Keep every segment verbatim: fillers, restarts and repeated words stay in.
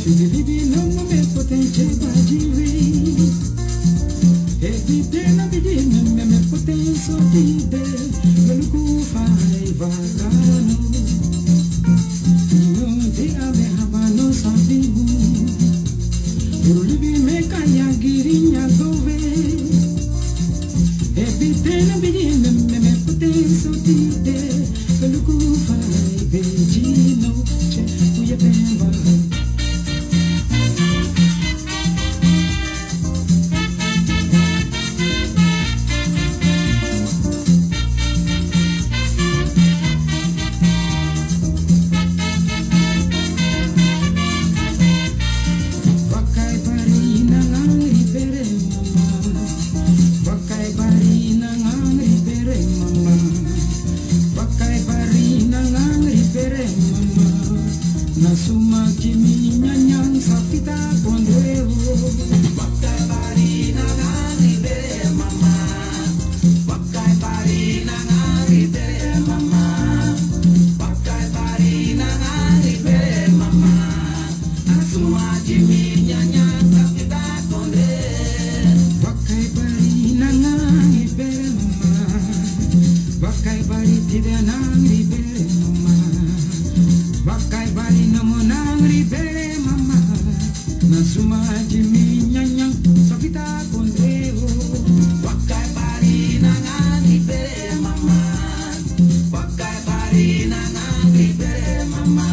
Bibi no mo me potense badiwi. Ebi tena bidi me me me potenso dide. Me luku fai vakano. Ino de ame habano sabimu. Uru libi me kanya giri nya dove. Ebi tena bidi me me me potenso dide. Luku fai bejino che kuya pemba. Wakai bari na langri bere mama. Wakai bari na langri bere mama. Wakai bari na langri bere mama. Na suma ki mi nyanyan sa fita kondre o. Wakai bari na langri bere mama. Wakai bari na langri bere mama. Wakai bari na langri bere mama. Asuma jimi nyanya sakita konde. Wakai bari nanga ibere mama. Wakai bari tida nang ibere mama. Wakai bari namo nang ibere mama. Nasuma jimi nyanya sakita konde o. Wakai bari nanga ibere mama. Wakai bari na nangri bere mama.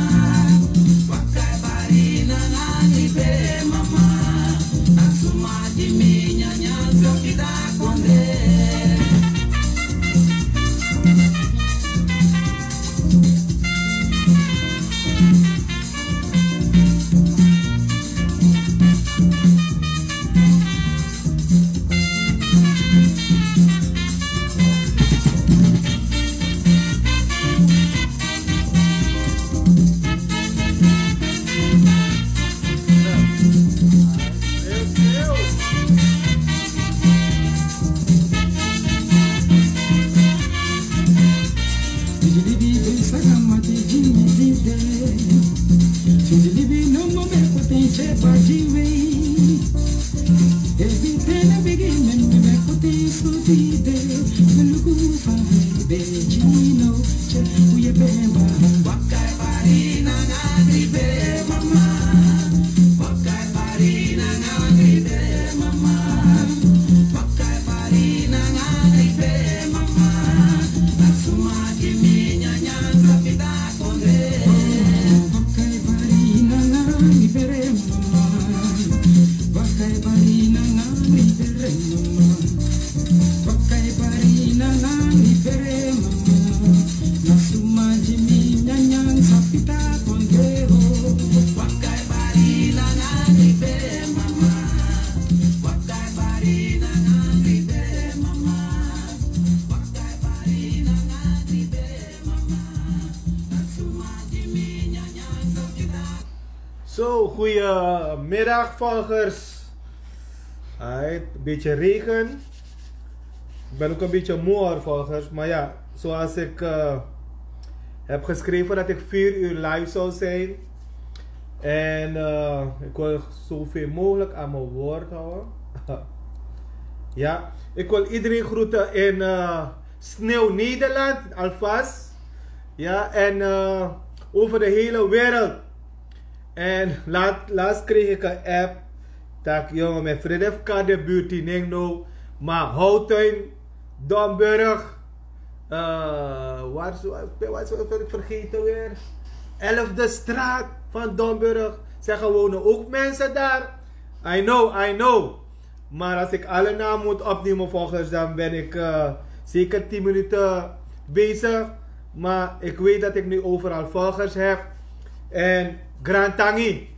Wakai bari na nangri bere mama. Asuma jimi nyanya sakita konde. Since libi no more me put in check for the way. Everything I begin and me me put in so deep. Me look for the bed, you know, check who you been by. Wakai bari na nangri bere mama. Wakai bari na nangri bere mama. Wakai bari na nangri bere mama. Asuma jimi nyanya sakita konde. Wakai bari na nangri bere mama. Wakai bari na nangri bere mama. Wakai bari na nangri bere mama. Nasuma jimi nyanya sakita konde o. Wakai bari na nangri bere mama. Wakai bari na nangri bere mama. Wakai bari na nangri bere mama. Nasuma jimi nyanya sakita. Zo, goedemiddag volgers. Alright, een beetje regen. Ik ben ook een beetje moe hoor, volgers. Maar ja, zoals ik eh, heb geschreven dat ik vier uur live zou zijn. En eh, ik wil zoveel mogelijk aan mijn woord houden. Ja, ik wil iedereen groeten in eh, Sneeuw Nederland alvast. Ja, en eh, over de hele wereld. En laat, laatst kreeg ik een app. Dat jongen, mijn vriend heeft Kadebuurt in Nengno. Maar Houten, Domburg. Eh, waar is, waar is, waar is, vergeten weer? Elfde straat van Domburg. Zeggen wonen ook mensen daar. I know, I know. Maar als ik alle namen moet opnemen volgers, dan ben ik eh, zeker tien minuten bezig. Maar ik weet dat ik nu overal volgers heb. En grantangi.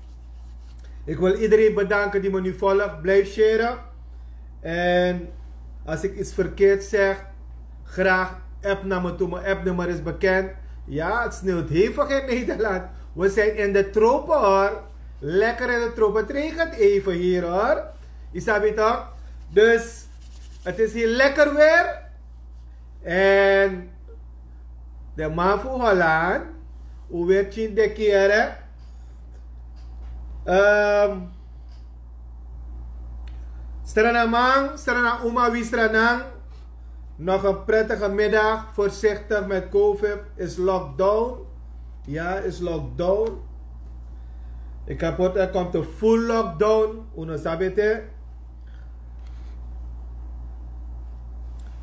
Ik wil iedereen bedanken die me nu volgt. Blijf sharen. En als ik iets verkeerd zeg, graag app naar me toe. Mijn appnummer is bekend. Ja, het sneeuwt hevig in Nederland. We zijn in de tropen hoor. Lekker in de tropen. Het regent even hier hoor. Isabi toch? Dus het is hier lekker weer. En de man van Holland, hoe werd je in de keren? Ehm, Stranaman, Strana Uma, Wistranan. Nog een prettige middag. Voorzichtig met covid. Is lockdown. Ja, is lockdown. Ik heb gehoord, er komt een full lockdown. Uno sabete.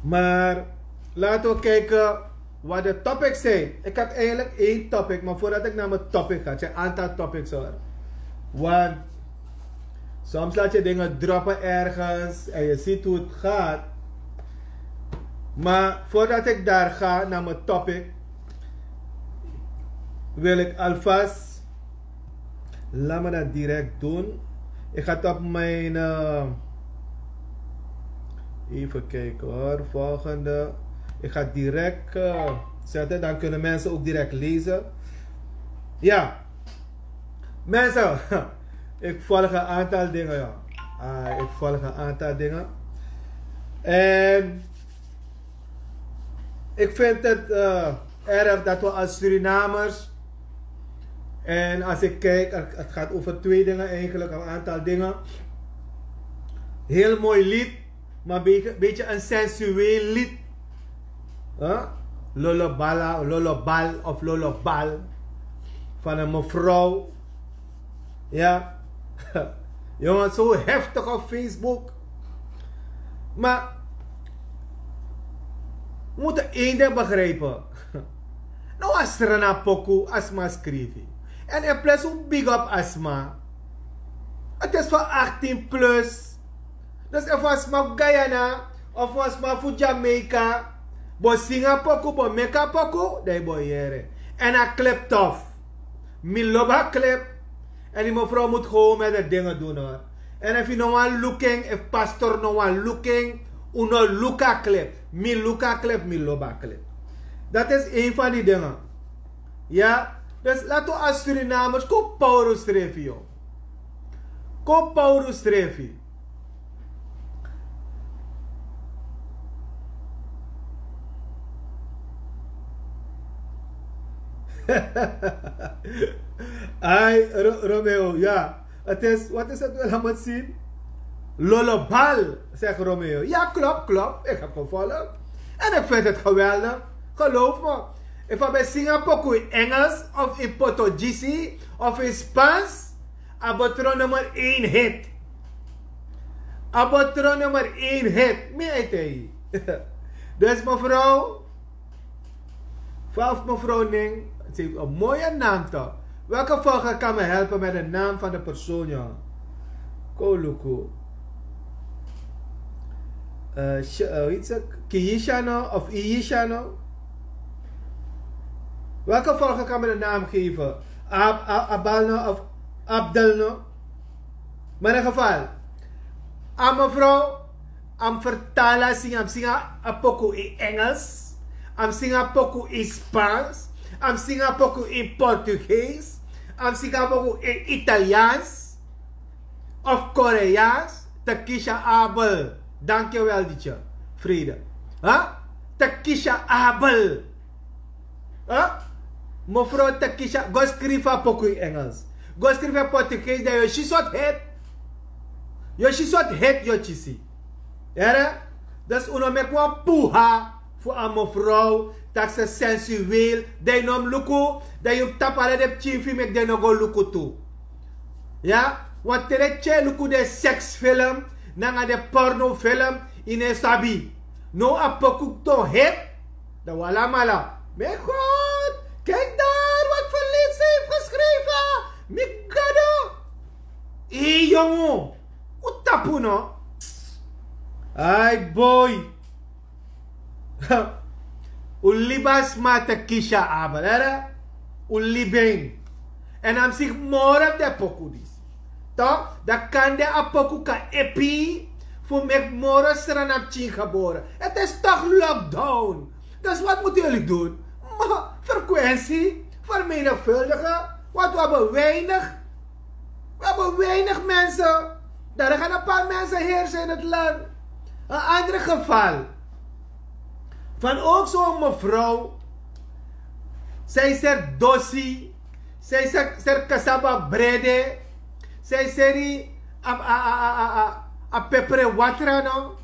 Maar laten we kijken wat de topics zijn. Ik heb eigenlijk één topic, maar voordat ik naar mijn topic ga, het zijn een aantal topics hoor. Want soms laat je dingen droppen ergens en je ziet hoe het gaat. Maar voordat ik daar ga naar mijn topic, wil ik alvast, laat me dat direct doen. Ik ga het op mijn, eh, even kijken hoor, volgende. Ik ga het direct eh, zetten, dan kunnen mensen ook direct lezen. Ja, mensen, ik volg een aantal dingen, ja. Ah, ik volg een aantal dingen. En ik vind het eh, erg dat we als Surinamers, en als ik kijk, het gaat over twee dingen eigenlijk, een aantal dingen. Heel mooi lied, maar een beetje, beetje een sensueel lied. Huh? Lolobala, Lolobal of Lolobal. Van een mevrouw. Ja. Jongens, zo heftig op Facebook. Maar we moeten één ding begrijpen. No, a Srana poku a sma skrifi. En in plus un big up a sma. Het is voor achttien plus. Dus efu a sma fu Guyana of a sma fu Jamaica bo singa poku, bo meki a poku, dan yu bo yere. En a clip tof. Mi lobi a clip. En die mevrouw moet gewoon met de dingen doen hoor. En efu yu no wani luku en, efu pastor no wani luku en, un no luku a clip. Mi luku a clip, mi lobi a clip. Dat is een van die dingen. Ja, dus laten we als Surinamers kon power unsrefi, yo. Kon power unsrefi. Ai, Ro- Romeo, ja. Het is, wat is het wel aan het zien? Lolobal, zegt Romeo. Ja, klopt, klopt. Ik heb gevolgd. En ik vind het geweldig. Geloof me. Efu a ben singa poku in Engels of in Portugisi of in Spans, a bo tron nummer één hit. A bo tron nummer één hit. Mi e taigi. Dus mevrouw, fa fu mevrouw nen, ze heeft een mooie naam toch? Welke volger kan me helpen met de naam van de persoon, jongen? Kon luku. Eh, Sh- eh, hoe heet ze? Kiishano of Iishano? Welke volger kan me de naam geven? Ab Ab- Abalno of Abdelno? Maar in ieder geval, a mevrouw, a mus vertali a singa, a mus singa a poku in Engels, a mus singa a poku in Spans, a mus singa a poku in Portugees, a mus singa a poku in Italiaans of Koreaans. Takisha Abel. Dankjewel, Dietje. Vrede. Huh? Takisha Abel. Huh? Mevrouw Takisha, go skrifi a poku in Engels. Go skrifi a Portugees, dan yu o si sortu hit. Yu o si sortu hit yu o kisi. Here? Dus un no meki wan puha fu a mevrouw, taki sensueel, dan yu no mus luku, dan yu mus tapu ala den pikin fu yu meki den no go luku tu. Ya, want te den pikin e luku den seksfilm, nanga den pornofilm, yu no e sabi. Now a poku don hit, dan un alamala. Mijn God, kijk daar wat Felice heeft geschreven. Mi Gado. Hé, jongen, un tapu no? Ai, boy. Un libi a sma Takisha Abel, here? Un libi en. En a mus si moro fu den poku disi. Toch? Dan kande a poku kan epi fu meki moro Srana pikin gebore. Het is toch lockdown. Dus wat moeten jullie doen? Maar frequentie vermenigvuldigen. Want we hebben weinig We hebben weinig mensen. Daar gaan een paar mensen heersen in het land. Een ander geval. Van ook zo'n mevrouw. Zij zegt dosi. Zij zegt, zegt cassava brede. San e seri a a a a a a pepre watra no,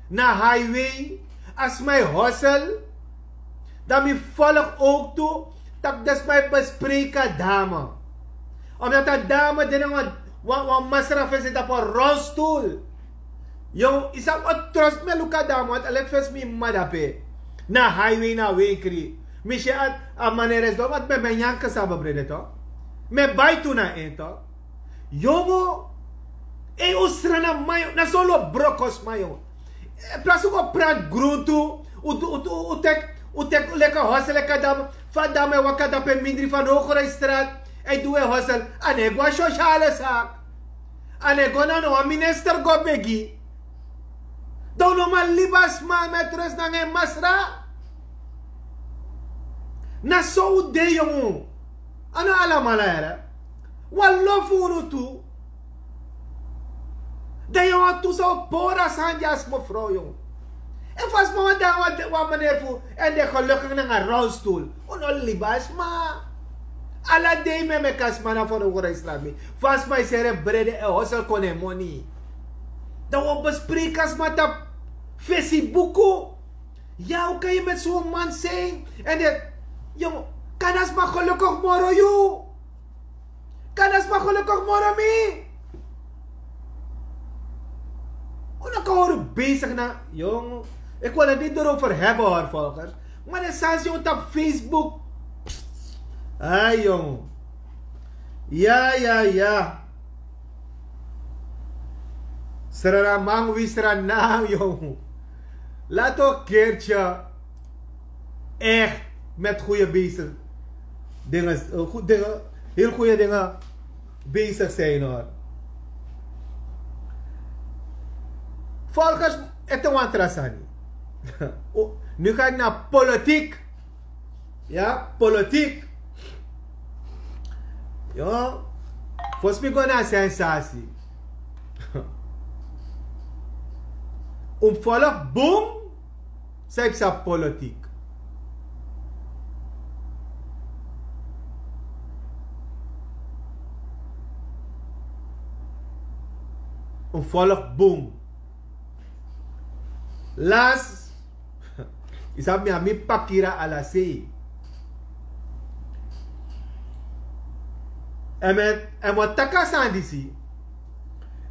na highway. A sma e hosel. Dan mi folg ook tu tak' den sma e bespreki a dame. Omdat a dame de na wan wan wan masra fesi tapu a rolstoel. Yo, yu sabi wan trost mi e luku a dame want a leki fesi mi mama dape. Na highway na wenkri. Mi si a a maneres don want mi e ben nyanke sabi brede to. Mi e bai tu na en to. Yongo. Ei un srana man yongo na so un lo broko sma yongo. Plasi un go pranti gruntu. Un teki un teki leki a hosel leki a dame. Fa a dame e waka dape mindri fa no gro e strati. A e du un e hosel. A no e go na sosiale saki. A no e go na no wan minister go begi. Dan un no man libi a sma mi e tresi nanga en masra. Na so un de yongu. A no alamala here. Wan lo fu unu tu. Dan yongu tu san un pori a sani di a sma frow yongu. Efu a sma wan dan wan maneri fu en de gelukigi nanga rolstoel. Un no libi a sma. Ala dei mi e meki a sma na fo no gro e strati mi. Fa a sma e seri en brede e hosel kon na en moni. Dan un o bespreki a sma tapu fesibuku. Ya un kan yu meti so wan man sei en de. Yo, kan a sma gelukigi moro yu? Kan a sma gelukigi moro mi? Un no kan hori besigi na yong. Eki wani diti doro ferhebe hori volgers. Ma den sani si un tapu facebook. Ai yong. Ya ya ya. Srana man wi srana yong. Lato kertya. Ech met goede bezig dingen. Heel goede dingen bezig zijn hor. Volgers, ete wantrasani. Nu ga ik na politiek. Ya politiek. Yo. Fosmi go na sensasi. Un volk bum. San yu psa politik. Un volk bum. Las. Yu sabi mi a mi pakira ala sei. Èn mi e taki a sani disi.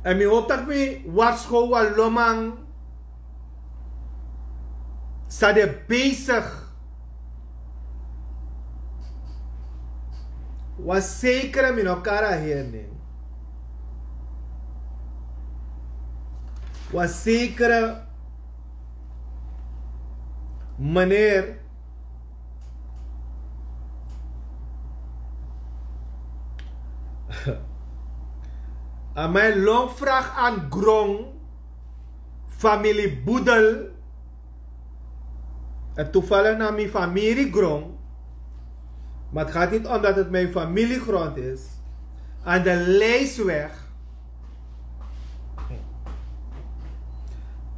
Èn mi hopi tak' mi warskow wan loman. San de besig. Wan sekere mi no kari a heri nen. Wan sekere meneer. A man e long vrag an grong. Famili budel. En toevallig na mi famili grong. Maar het gaat niet om dat het mijn familiegrond is. Aan de lijstweg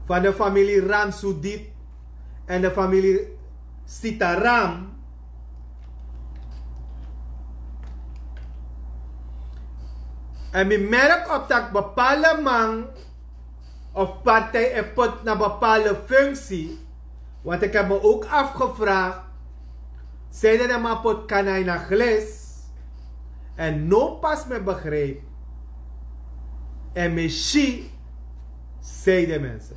van de familie Ramsudit en de familie Sitaram. En mi merk op dat bepaalde man of partij e put na bepaalde functie. Want ik heb me ook afgevraagd, zeiden de man put kanai na glis. En no pas me begrijp. En me shi, zeiden mensen.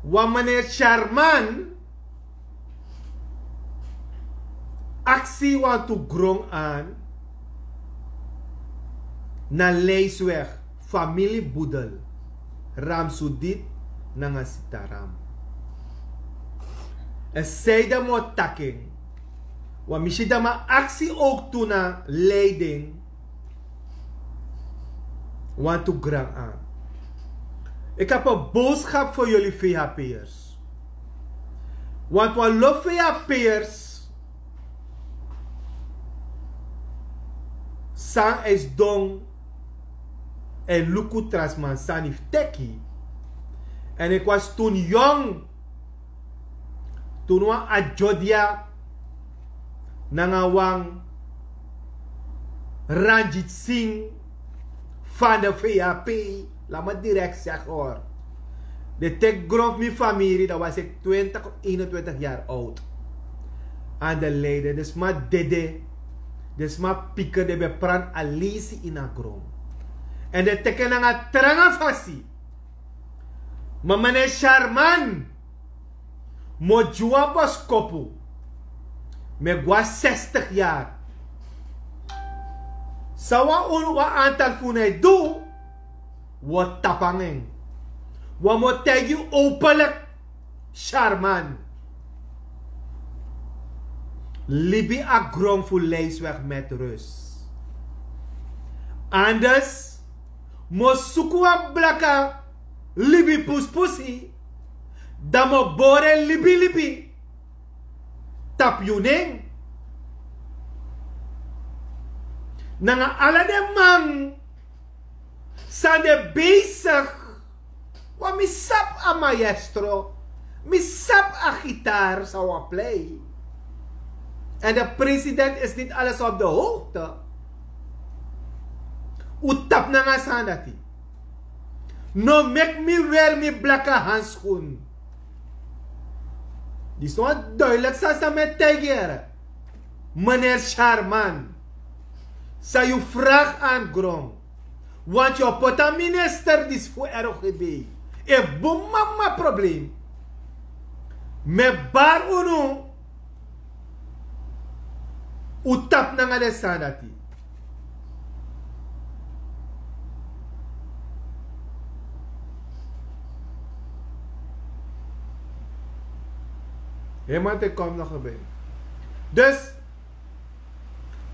Wan meneer Sharman aksi wantu grong an na leisweg, famili budel, Ramsudit nanga Sitaram. En sei dan mi o taki en. Wan mi si dan mi aksi ook tu na leiding. Wantu grong an. Ik heb een boodschap voor jullie vhp'ers. Want wan lo vhp'ers san e sidon e luku tra sma sani fu teki. En ik was toen jong. Tun wan adyodia nanga wan ranjitsin fan de vap. Lama direkt segi hori. De tek gron fu mi famiri dan was ik twintig of eenentwintig yari oud. An de leide de sma dede. De sma pike de ben pran alisi ini a gron. Èn den teki en nanga tranga fasi. Ma mene sharman mi o gi wan boskopu. Mi e go na sestig yari. San wan unu wan antal fu unu e du? Wi o tapu nanga en. Wan mi o taigi yu openlik. Sharman, libi a gron fu leisweg met rus. Anders mi o suku wan blaka libi puspusi, dan mi o bori en libilibi tapu yu nen. Nanga ala den man san de besig. Want mi sabi a maestro, mi sabi a gitaar san wi a plei. En de president is niet alles op de hoogte. Un tapu nanga sani dati. No meki mi weri mi blaka hanskun. Disi na wan duidelik sani san mi e taigi yu. Meneer Sharman, san yu fragi na gron. Want yu o poti a minister disi fu R O G B. E bun mama problem. Mi e bari unu. Un tapu nanga den sani dati. Hemante kom nog erbij. Dus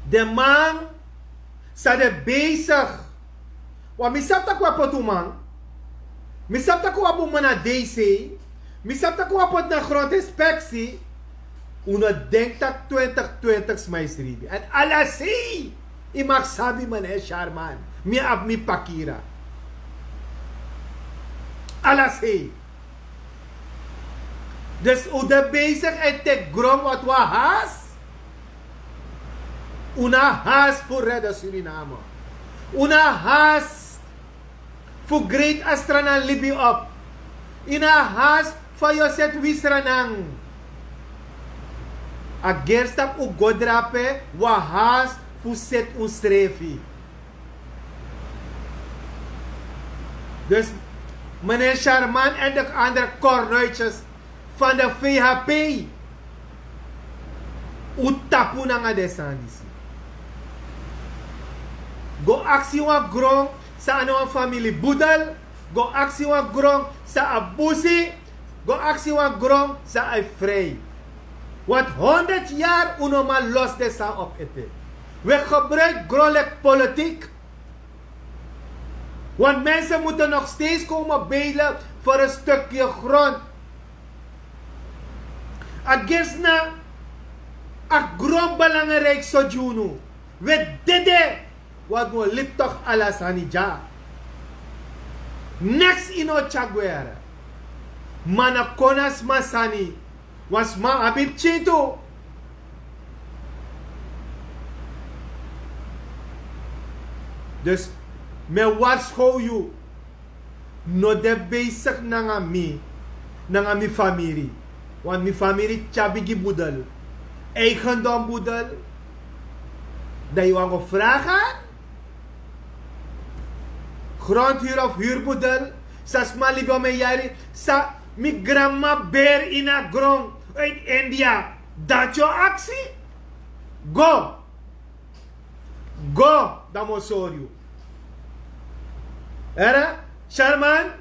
den man san de besig. Want mi sabi tak' wi a poti un man. Mi sabi tak' wi a bun man na DC. Mi sabi tak' wi a poti na grondinspeksi. Un no denki tak' twintig twintig sma e sribi èn ala sei. Yu mag sabi meneer Sharman, mi abi mi pakira. Ala sei. Dus un de besig en teki gron want wi a has. Un na has fu rede Suriname. Un na has fu great astranan libi op. Yu na has fa yu o seti wi sranan. A gersi tak' un go drape wi a has fu seti unsrefi. Dus meneer Sharman en de andere kornuitjes van de VHP. Un tapu nanga den sani disi. Go aksi wan gron san a no wan famili budel. Go aksi wan gron san a busi. Go aksi wan gron san a e frei. Want honderd yari un no man losi den sani op ete. Wi e gebruiki gron leki politik. Want mensen moeten nog steeds komen bedelen voor een stukje grond. A gersi na a gron belangrijk so gi unu. Wi e dede. Want wi o libi tok' ala sani dya. Neks yu no o tyari gwe. Ma na kon na sma sani. Wan sma abi pikin tu. Dus mi e warskow yu. No de besigi nanga mi, nanga mi famiri. Want mi famiri tyari bigi budel. Eigendom budel. Dan yu wani go fragi. Grondhuru of hurubudel san sma libi wan men yari, san mi granmama beri ini a gron. Uit India. Dati yu o aksi. Go. Go. Dan mi o sori yu. Here, Sharman.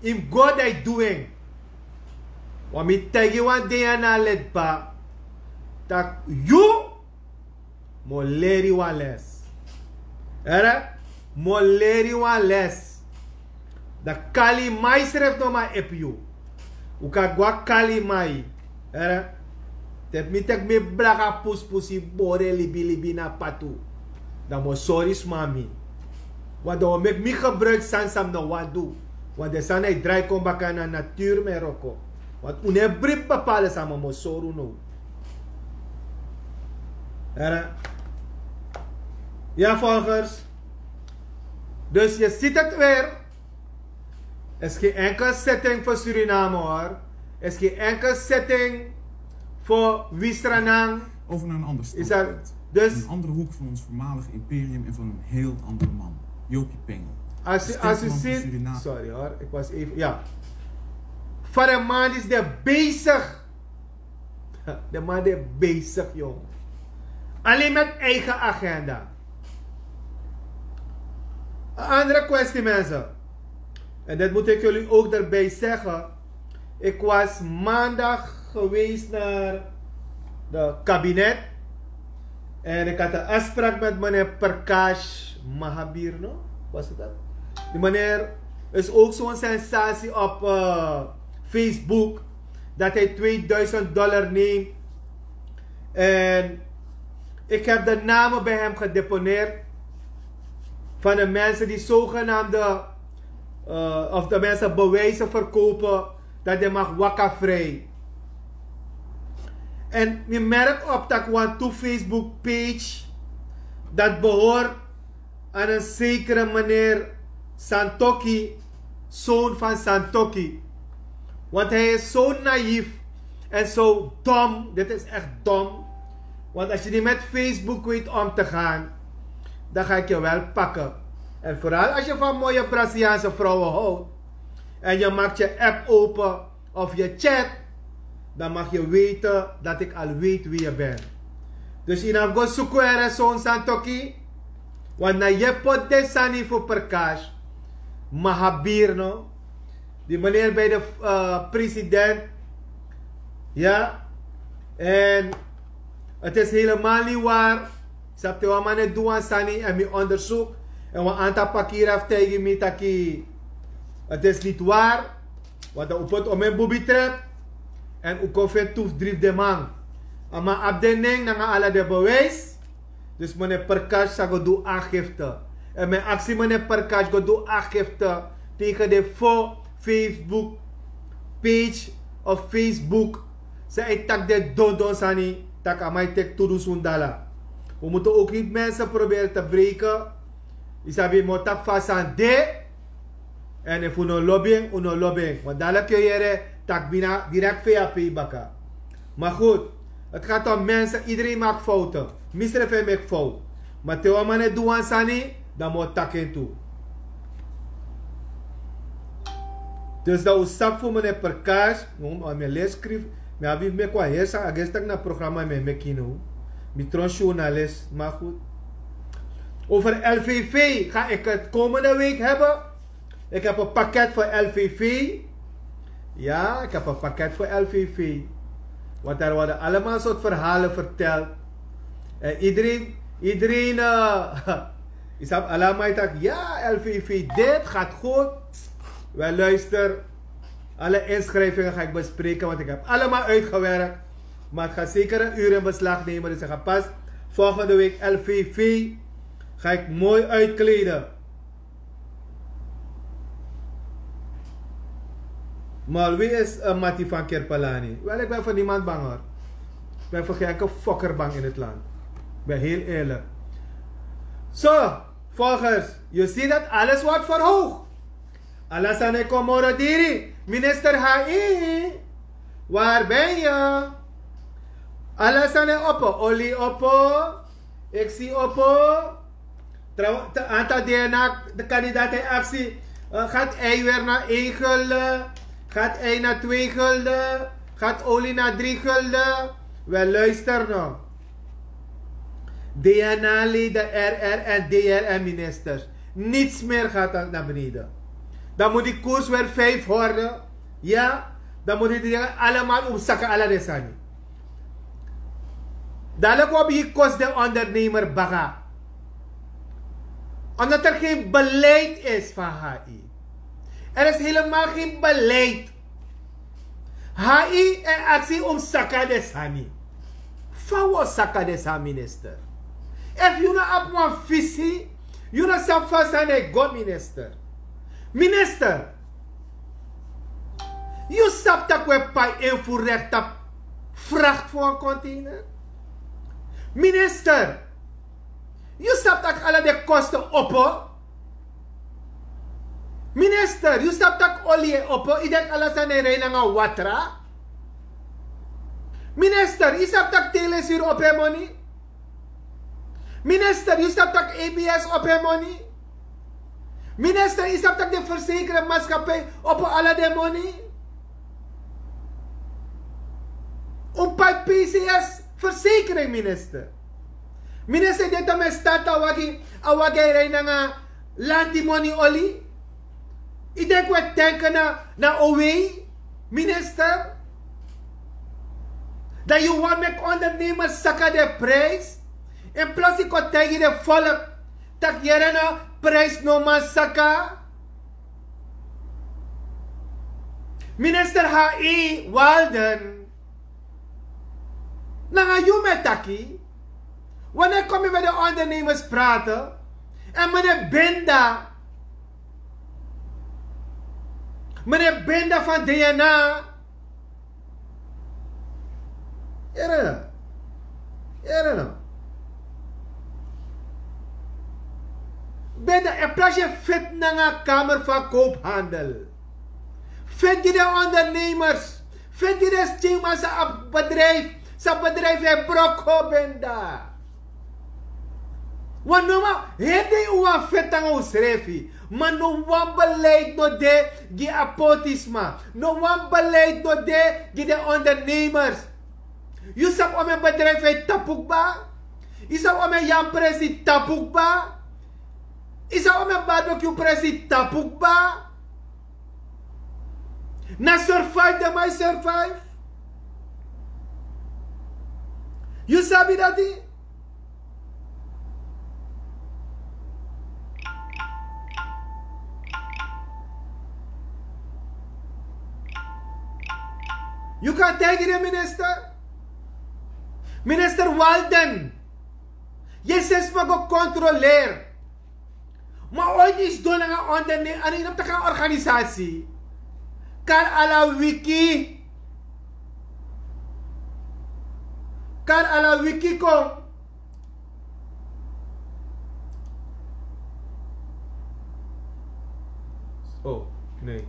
Yu mus go dan yu du en. Wan mi taigi wan dei na a ledpa, tak' yu mus leri wan les. Here, mus leri wan les. Dan kali mai srefi no man epi yu. Un kan go na kali mai. Here, te mi teki mi blaka puspusi bori en libilibi na patu. Dan mi o sori sma mi. Want dan o meki mi gebruiki sani san mi no wani du. Want den sani e drai kon baka na naturu mi e wroko. Want un no e bribi bepalen sama mosoro no. Heren. Ja, volgers. Dus je ziet het weer. Er is geen enkel zitting voor Suriname, hoor. Er is geen enkel zitting voor Wisranang. Over naar een ander standpunt. Dus een andere hoek van ons voormalig imperium en van een heel andere man. Jopie Pengel. Als je, als je ziet, sorry hoor, ik was even, ja. Van de man is er bezig. De man is bezig, jong. Alleen met eigen agenda. Een andere kwestie, mensen. En dat moet ik jullie ook erbij zeggen. Ik was maandag geweest naar de kabinet. En ik had een afspraak met meneer Prakash Mahabir, no? Was het dat? Die meneer is ook zo'n sensatie op eh, Facebook. Dat hij tweeduizend dollar neemt. En ik heb de namen bij hem gedeponeerd. Van de mensen die zogenaamde, eh, of de mensen bewijzen verkopen dat hij mag waka vrij. En je merkt op dat one two Facebook page dat behoort aan een zekere meneer Santoki, zoon van Santoki. Want hij is zo naïef en zo dom. Dit is echt dom. Want als je niet met Facebook weet om te gaan, dan ga ik je wel pakken. En vooral als je van mooie Braziliaanse vrouwen houdt en je maakt je app open of je chat, dan mag je weten dat ik al weet wie je bent. Dus yu no go suku ere son Santoki. Want na yu e poti den sani fu Prakash Mahabir, no? Die meneer bij de eh, president. Ja. En het is helemaal niet waar. Sabi te wan man e du wan sani en mi onderzoek. En wan aantal pakiri abi taigi mi taki het is niet waar. Want dan un poti omeni bubi trep. En un kon feni tu fu dri fu den man. A man abi den nen nanga ala den bewijs. Dus meneer Prakash sa go du aangifte. En mi e aksi meneer Prakash go du aangifte tegen den fo Facebook page of Facebook. San e taki den dondon sani, tak' a man e teki tu dusun dala. We moeten ook niet mensen proberen te breken. Yu sabi, yu mu taki fa a sani de. En efu un no lobi en, un no lobi en. Want dadelijk yu o yere tak' mi na direct V A P baka. Maar goed, het gaat om mensen, iedereen maakt fouten. Mi srefi e meki fout. Maar te wan man e du wan sani, dan mi o taki en tu. Dus dan un sabi fu meneer Prakash, mi e lesi skrifi, mi abi fu meki wan heri sani, a gesi tak' na programma mi e meki now. Mi tron journalist, maar goed. Over L V V ga ik het komende week hebben. Ik heb een pakket voor L V V. Ja, ik heb een pakket voor L V V. Want er worden allemaal soort verhalen verteld. En iedereen, iedereen, eh, is op allemaal tak, ja, L V V, dit gaat goed. Wel, luister, alle inschrijvingen ga ik bespreken, want ik heb allemaal uitgewerkt. Maar het gaat zeker een uur in beslag nemen, dus ik ga pas volgende week L V V ga ik mooi uitkleden. Maar wie is een Mati van Kirpelani? Wel, ik ben voor niemand bang, hoor. Ik ben voor geen enkel fokker bang in het land. Ik ben heel eerlijk. Zo, volgers, je ziet dat alles wordt verhoogd. Ala sani e kon moro diri. Minister H I, waar ben je? Ala sani e opo, oli opo, eksi opo. Tra- ta- Aantal D N A-kandidaat e aksi. Eh, gaat ei weer naar één gulden? Gaat ei naar twee gulden? Gaat olie naar drie gulden? Wel, luister nog. D N A-leden, R R en D R en ministers. Niets meer gaat dan naar beneden. Dan moet die koers weer vijf worden. Ja, dan moet die dingen allemaal omzakken, ala den sani. Dadelijk wil je kost de ondernemer baga. Omdat er geen beleid is van H I. Er is helemaal geen beleid. H I e aksi omsaka den sani. Fa wi o saka den sani, minister? Efu yu no abi wan visi, yu no sabi fa sani e go, minister. Minister, Yu sabi tak' we pai en fu rekta frakt fu wan konteiner? Minister, yu sabi tak' ala den kosten opo? Minister, yu sabi tak' oli e opo? Yu denki ala sani e rei nanga watra? Minister, yu sabi tak' telesiri opo en moni? Minister, yu sabi tak' abs opo en moni? Minister, yu sabi tak' den versekeringsmaatskappij opo ala den moni? Un pai pcs versekering, minister. Minister, den tamen start a wagi, a wagi e rei nanga lanti moni oli. Yu denki we tenke na na owei, minister? Dan yu wani meki ondernemers saka den prijs. In plaats yu kon taigi den volk tak' yere no, prijs no man saka. Minister h e walden, nanga yu mi e taki. Wanneer kom yu met de ondernemers praten? En meneer Binda, meneer Binda van DNA. Yere no. Yere no. Binda, in plaats yu fiti nanga kamer van koophandel, fiti gi den ondernemers, fiti gi den skinman san a bedrijf, san bedrijf e broko, Binda. Wan no man heri dei un wani feti nanga unsrefi. Ma no wan beleid no de gi a potisma. No wan beleid no de gi den ondernemers. Yu sabi omeni bedrijf e tapu kba? Yu sabi omeni yam presi tapu kba? Yu sabi omeni barbecue presi tapu kba? Na survive den man e survive. Yu sabi dati? Yu kan taigi den minister. Minister Walden, yu e seni sma go kontroleri. Ma oiti yu sidon nanga ondernemer, a no yu no mus taki a organisasi. Kari ala wiki. Kari ala wiki kon. Oh, nee.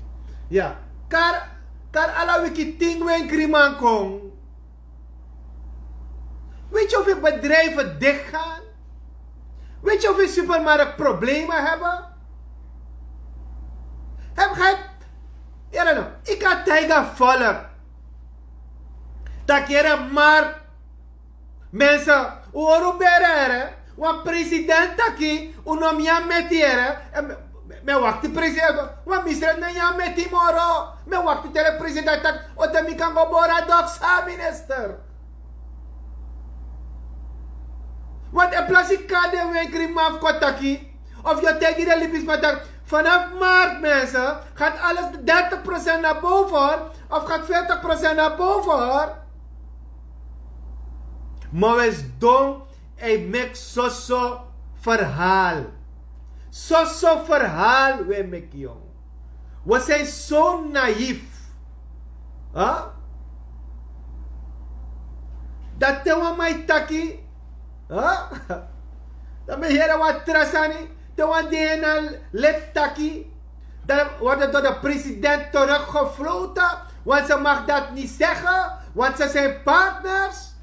Ya. Kari, kari ala wiki tin wenkriman kon. Weet je hoeveel bedrijven dichtgaan? Weet je hoeveel supermarkt problemen hebben? Heb, heb, yere no, yu kan taigi a volk tak' yere, mark, mensen, un hori un bere, yere. Wan president taki un no mus nyan meti, yere. En mi, mi, mi e wakti president, wan misref no e nyan meti moro. Mi e wakti te den president taki o te mi kan go bori a doksa, minister. Want in plaats yu kari den wenkriman fu kon taki, of yu o taigi den libisma taki, vanaf maart, mensen, gaat alles dertig procent naar boven, hoor, of gaat veertig procent naar boven, hoor. Ma we sidon, hij maakt soso verhaal. Soso verhaal we meki, yong. We zijn zo naïef. Huh? Dat te wan man e taki. Huh? Dan mi e yere wan tra sani. Te wan DNA lid taki, dan wordt het door de president teruggefloten, want ze mag dat niet zeggen, want ze zijn partners.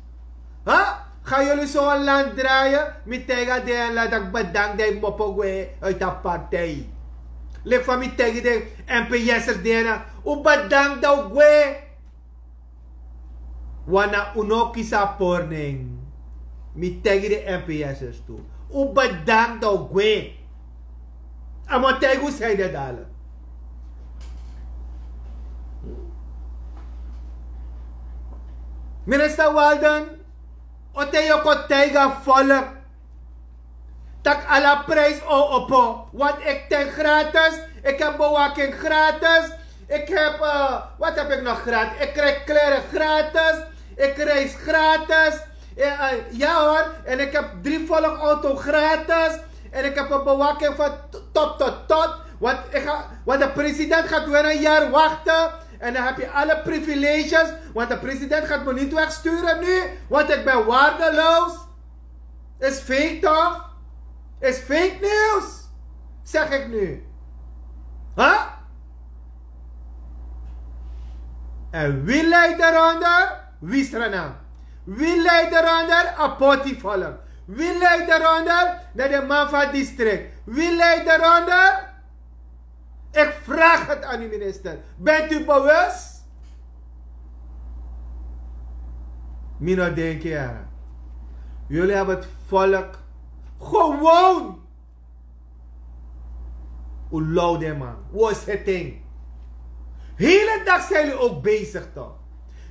Huh? Gaan jullie zo een land draaien? Mi taigi a DNA lid taki bedankt dat yu mopo gwe uit a partij. Leki fa mi taigi den NPS'ers DNA, un bedankt dat un gwe. Wan na un no kisi a pori nen. Mi taigi den NPS'ers tu. Un bedankt dat un gwe. A man taigi un san ede dala. Minister Walden, o te yu o kon taigi a volk tak' ala prijs o opo. Want ik tank gratis, ik heb bewaking gratis, ik heb, eh, wat heb ik nog gratis? Ik krijg kleren gratis, ik reis gratis. Eh, eh, ja hoor, en ik heb drie volgauto gratis. En ik heb een bewaking van t-, top tot tot. Want, ik ga, want de president gaat weer een jaar wachten. En dan heb je alle privileges, want de president gaat me niet wegsturen nu, want ik ben waardeloos. Is fake toch? Is fake nieuws, zeg ik nu. Huh? En wie leidt eronder? Wisrana. Wie leidt eronder? Apoti volk. Wie leidt eronder? Naar de man van district. Wie leidt eronder? Ik vraag het aan u, minister. Bent u bewust? Mino, denk je, jullie hebben het volk gewoon Ulow den man, wo setting. Hele dag zijn jullie ook bezig toch?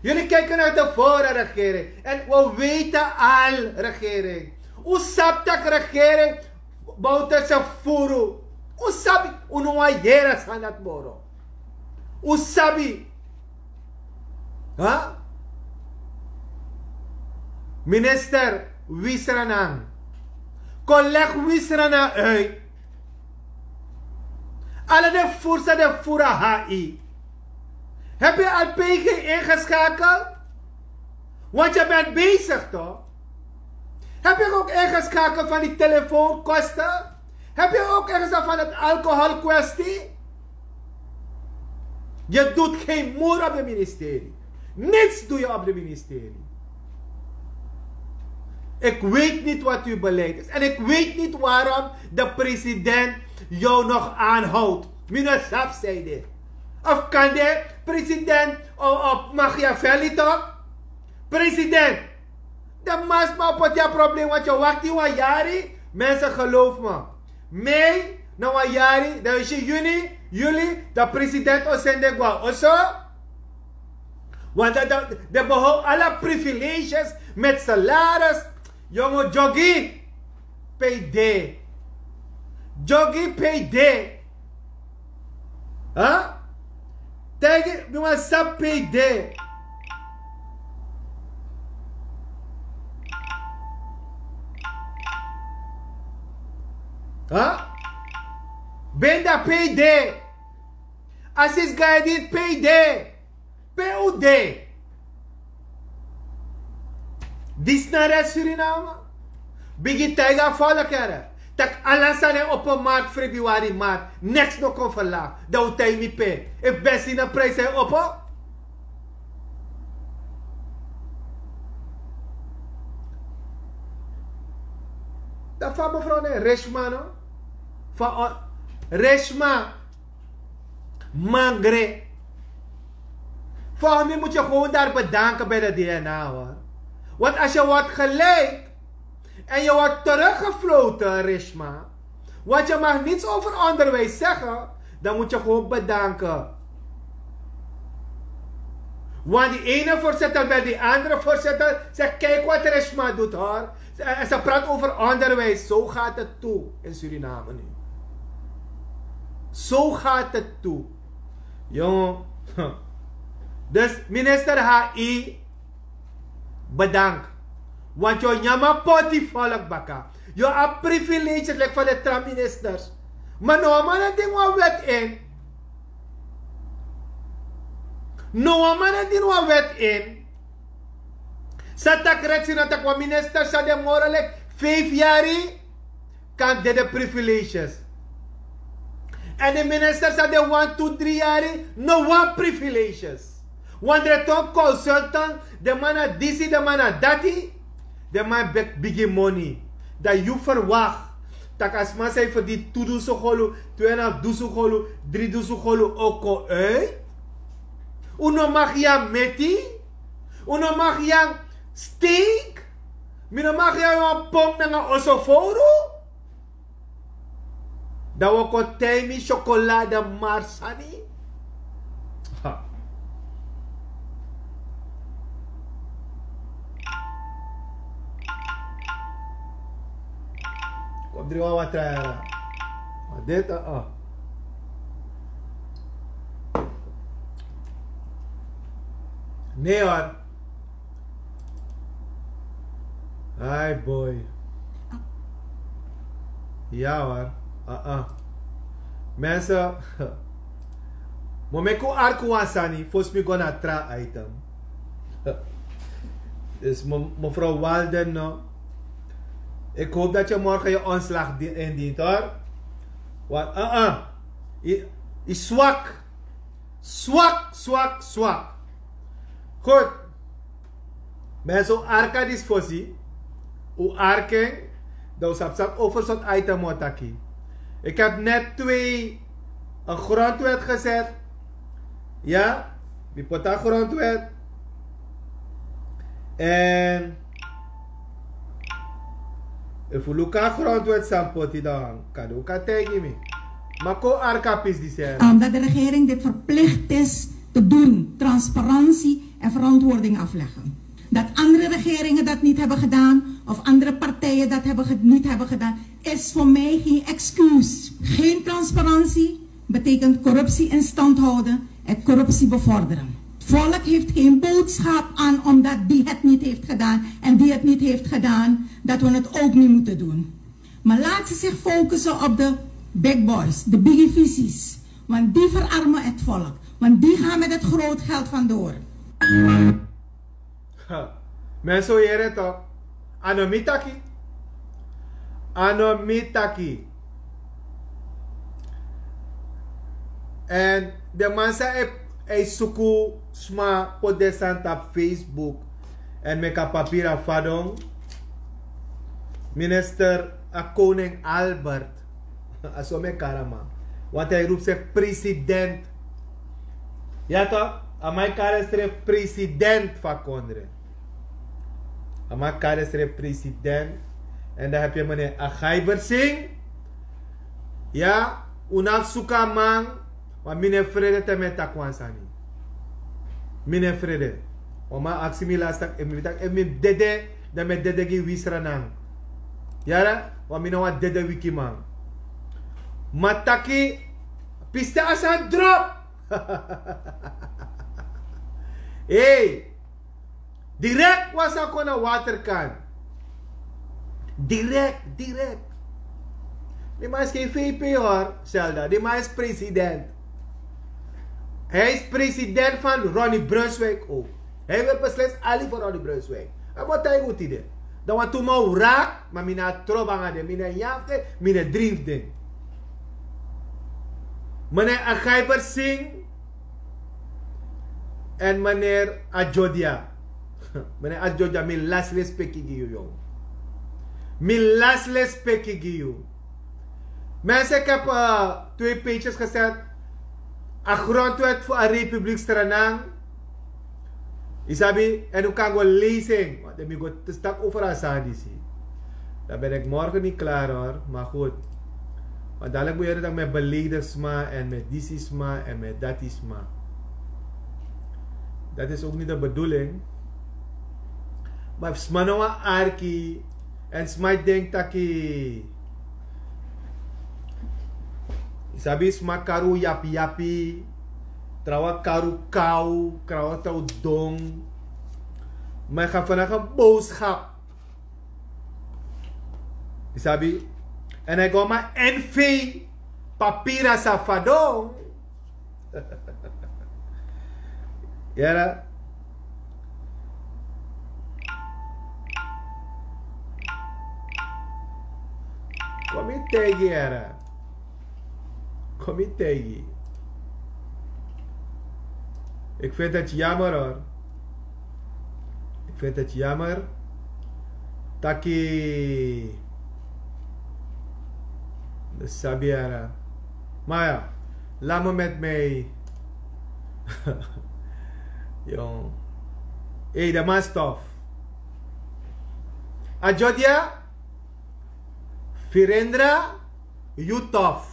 Jullie kijken naar de vorige regering. En we weten al, regering. Usabi tak regering. Bouterse furu. Usabi, unu wan yere san dat moro. Usabi. Huh? Minister, wisra nan. Kon leg wisra nan uit. Alle de fursa de fura H I. Heb je al P G ingeschakeld? Want je bent bezig toch? Heb je ook ingeschakeld van die telefoonkosten? Heb je ook ergens aan van het alcoholkwestie? Je doet geen moer op de ministerie. Niets doe je op de ministerie. Ik weet niet wat uw beleid is. En ik weet niet waarom de president jou nog aanhoudt. Meneer Sap zei dit. Of kan de president op Machiavelli toch? President, de masma op het probleem wat je wacht in wan yari. Mensen, geloof me. Mei, na wan yari, dan is je juni, juli, de president o sende gwa oso. Want dat, dat, de behoud alle privileges met salaris. Jongen, Jogi, P D. Jogi, P D. Huh? Tijgi, mi wan sabi P D. Huh? Benda P D. Asis Gaidin P D. P U D. Disnare Suriname. Bigi taiga fala kere. Tak ala sani opo mark februari mark. Niks no kon verlaag. Dan u tai mi pe. If benzine prijs hij opo. Dan van mevrouw ne Rishma no. Van Rishma. Mangre. Volgens mij moet je gewoon daar bedanken bij de D N A hoor. Want als je wordt gelijk en je wordt teruggefloten, Rishma, want je mag niets over onderwijs zeggen, dan moet je gewoon bedanken. Want die ene voorzitter bij die andere voorzitter zegt: kijk wat Rishma doet hoor. En ze praat over onderwijs. Zo gaat het toe in Suriname nu. Zo gaat het toe. Jongen. Dus minister H I, bedankt. Want yo nyama poti volk baka. Yo a privileges like van de tra ministers. Maar no man ding wan wet in. No man ding wan wet in. Sa tak reksi na tak wan minister sa de moro like vijf yari kan de de privileges. En de minister sa de wan tu dri yari no wan privileges. Wan dreton consultant, de man na disi, de man na dati. De man bek bigi money. Dan yu verwacht tak a sma san e verdien tu dusun golu, twe en half dusun golu, dri dusun golu o kon uit. Un no mag gi a meti. Un no mag gi a steek. Mi no mag gi a wan pong nanga oso fowru. Dan wi o kon taigi mi syokolade mari sani. Kon dringi wan watra yara. Ma deti a. Ne hoor. Ai boy. Ya hoor. Mensen. Mo meki un arki wan sani fosi mi go na tra item. Dus me- mevrouw Walden, no? Ik hoop dat je morgen je ontslag di- indient, hoor. Want uh-uh. Je, je zwak. Zwak, zwak, zwak. Goed. Mensen, un arki disi fosi. Un arki en. Dan un sabi sabi over soort item un o taki. Ik heb net twee, een grondwet gezet. Ja, mi poti a grondwet. En efu un luku a grondwet san poti, dan kande un kan taigi mi. Ma kon un arki a pisi disi. Omdat de regering dit verplicht is te doen, transparantie en verantwoording afleggen. Dat andere regeringen dat niet hebben gedaan of andere partijen dat hebben ge- niet hebben gedaan, is voor mij geen excuus. Geen transparantie betekent corruptie in stand houden en corruptie bevorderen. Het volk heeft geen boodschap aan omdat die het niet heeft gedaan en die het niet heeft gedaan, dat we het ook niet moeten doen. Maar laat ze zich focussen op de big boys, de biggie visies. Want die verarmen het volk. Want die gaan met het groot geld vandoor. Ha. Mensen, un yere toch? A no mi taki. A no mi taki. En de man san e- e suku sma poti den sani tapu Facebook. En meki a papiri a fadon. Minister, a koning Albert. A so mi e kari a man. Want hij roept zich president. Ja toch? A man e kari ensrefi president fu a kondre. A man e kari ensrefi president. En dan heb je meneer Agaiber Singh. Ya, un no abi suku a man. Ma mi no e frede te mi e taki wan sani. Mi no e frede. Wan man aksi mi lasi taki efu mi taki efu mi dede, dan mi e dede gi wi Sranan. Yere, wan mi na wan dede wikiman. Ma taki, piste a sani drop. Hei. Direkt wan sani kon na waterkan. Direkt, direkt. Di man is geen VP, hoor, Zelda. Di man is president. Hij is president van Ronnie Brunswijk ook. Hij wil beslist ali voor Ronnie Brunswijk. En wat hij moet die dan want toen man raak, maar mina troba ngade, mina yafte, mina driefde. Meneer Agaiber Singh en meneer Ajodia. Meneer Ajodia, mi lasi respeki gi yu, jong. Mi lasi respeki gi yu. Mensen, ik heb eh, twee pages gezet. A grondwet voor a republiek Sranan. Isabi, en u kan go lezen. Want dan mi go te stak over a sani disi. Dan ben ik morgen niet klaar, hoor. Maar goed. Want dadelijk moet je dat met beledigd sma en met disi sma en met dati sma. Dat is ook niet de bedoeling. Maar sma no wan arki. En sma e denki taki, sabi, sma kari un yapiyapi. Trawan kari un kaw, trawan trawan don. Maar ik ga vandaag een boodschap. Sabi. En hij go maar N V papira safadon. Yara. Kon mi taigi, yara. Kon mi taigi. Ik vind het jammer, hoor. Ik vind het jammer. Taki. Sabi, yara. Maar ja, laat me met mij. Jong. Hé, de man stof. Ajodia, Virendra, yu tof.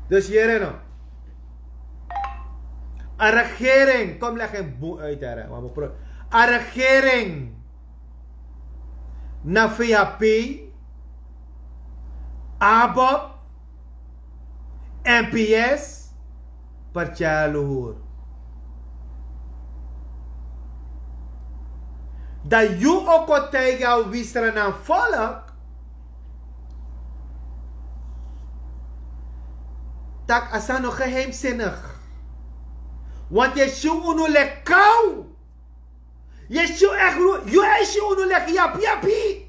Dus hier en a regering, kom leg een boe uit, hè. A regering na V H P, ABOP, N P S, Partij Luhur. Dan yu o kon taigi a wi Sranan volk Tak' a sani no geheimsinigi. Want yu e si unu leki kaw. Yu e si unu leki yapiyapi.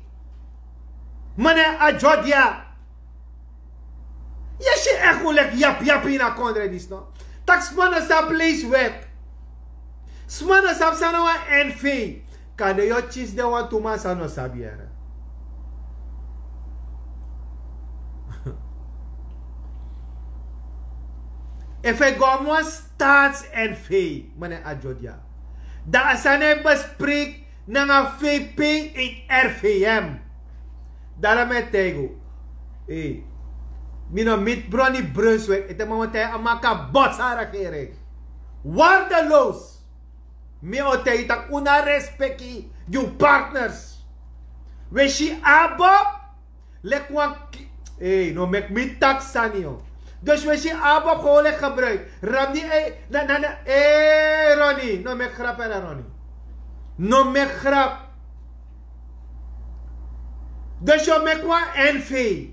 Mane a jodia. Yu e si unu leki yapiyapi na kondre disi no. Tak' sma no sabi leisi wet. Sma no sabi san na wan nv. Kande yu o kisi den wantu man san no sabi yere. Efu e go na wan staats-nv, mane a jodia, dan a sani e bespreki nanga vp in rvm. Dara mi e taigi unu. Mi no miti broni brunswik ete man wan taigi a maki a bosi a regering. Wardeloos. Mi o taigi tak' un no abi respeki gi un partners. We si abo leki wan ki- ei, no meki mi taki sani yo. Dus we si abo gewoon leki gebruik ramdi ei na na na. Ei roni, no meki grap era roni. No meki grap. Dus yo meki wan nv.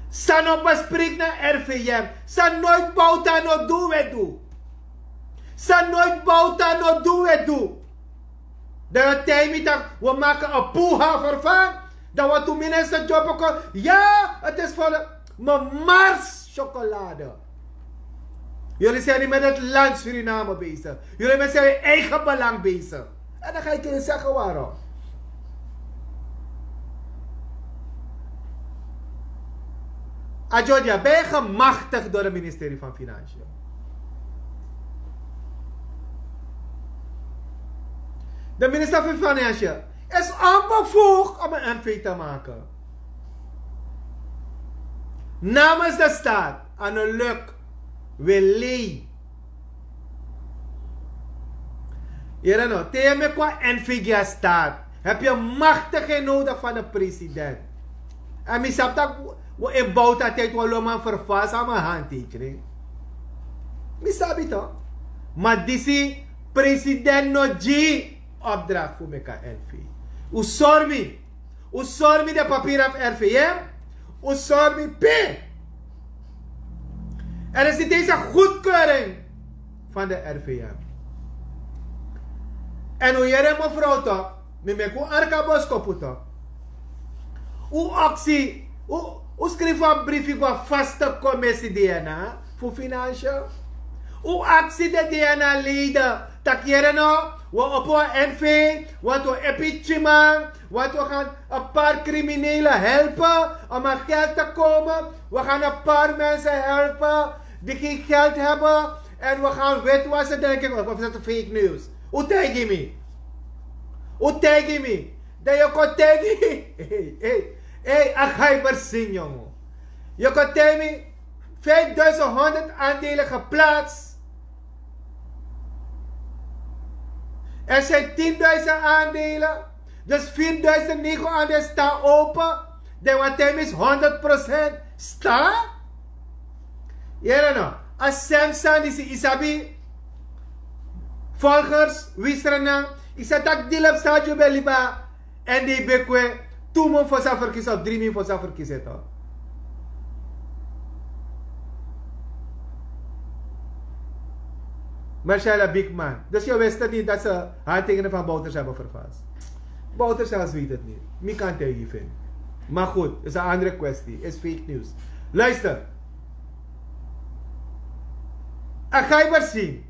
San no bespreki na rvm, san noit bouta no du we du. San noit bouta no du we du. Dan yu o taigi mi tak' wi o maki a puha ferfan. Dan wan tu minister dyompo kon. Ya, het is volle. Mars syokolade. Yuli seni met het land suriname bezig. Yuli met seni eigen belang bezig. En dan ga yu kini segi waro. A jodia ben yu gemaktigi dori a ministerie fan finansiel. De minister fan finansiel is onbevoegd om en nv te maken. Namens de staat, aan de luk, wil lei. Yere no te yu e meki wan nv gi a staat, hebi yu maktigheid nodigi fan de president. En mi sabi tak' wi in bouta tijdi wan loman ferfasi a man handtekening. Mi sabi to. Ma disi president no gi opdrakt fu meki a nv. Un sori mi. Un sori mi de papira fu rvm. Un sori mi pe. En is niti eens a goedkeuring van de rvm. En un yere mevrouw to, mi meki un arka boskopu to. Un aksi, un skrifi wan brifi go a vaste komisi dna fu finansiel. Un aksi de dna leden tak' yere no, wi o opo wan nv, want wi o epi tyiman, want wi gan a par kriminele helpen om aan geld te komen. Wi gan a par mense helpen di gen geld heben. En wi gan witwassen denki of is dat fake news? Un taigi mi. Un taigi mi. Dan yu kon taigi mi. Ei, a gaibersin yongo. Yu kon taigi mi. Vijfduizend honderd aandelen geplaatst. Er zijn tienduizend aandelen. Dus vierduizend negen aandelen staan open. Dan wat hij mis honderd procent staan. Yere no. A sem sani disi, yu sabi. Volgers wisrana. Yu sa taki dilep sa yu ben libi. En di ben kwe tu mun fosi a ferkisi of dri mun fosi a ferkisi eto. Marcella Bigman. Dus yu wist het niti dat se handtekening van Bouterse heben vervals. Bouterse wist het niti. Mi kan taigi yu fu en. Maar goed, is en andere kwesti, is fake news. Luister. A gaibersin.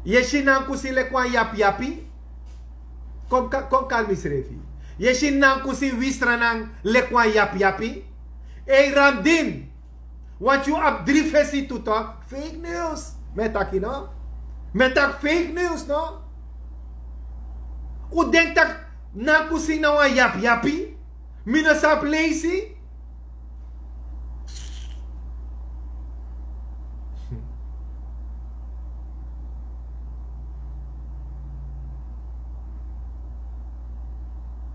Yu e si nankusin leki wan yapiyapi. Kon kari mi srefi. Yu e si nankusin wisranan leki wan yapiyapi. Ei ramdin. Want yu abi dri fesi tu tok. Fake news. Mi e taki no. Mi e taki fake news no. Un denki tak' nankusin na wan yapiyapi. Mi no sabi leisi.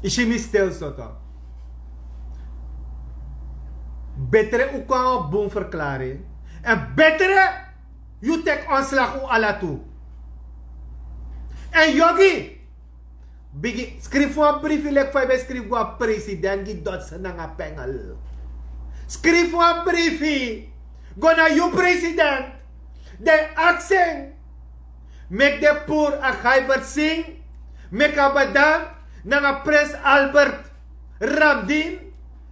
Yu si mi stil soto. Betre un kon na wan bun ferklaring. En betre yu teki ontslag un ala tu. En yogi. Bigi, skrifi wan brifi leki fa yu ben skrifi go na president gi dotse nanga pengel. Skrifi wan brifi go na yu president. Den aksi en. Meki den puru a Gaibersin, meki a bedank, nanga prins Albert Ramdin,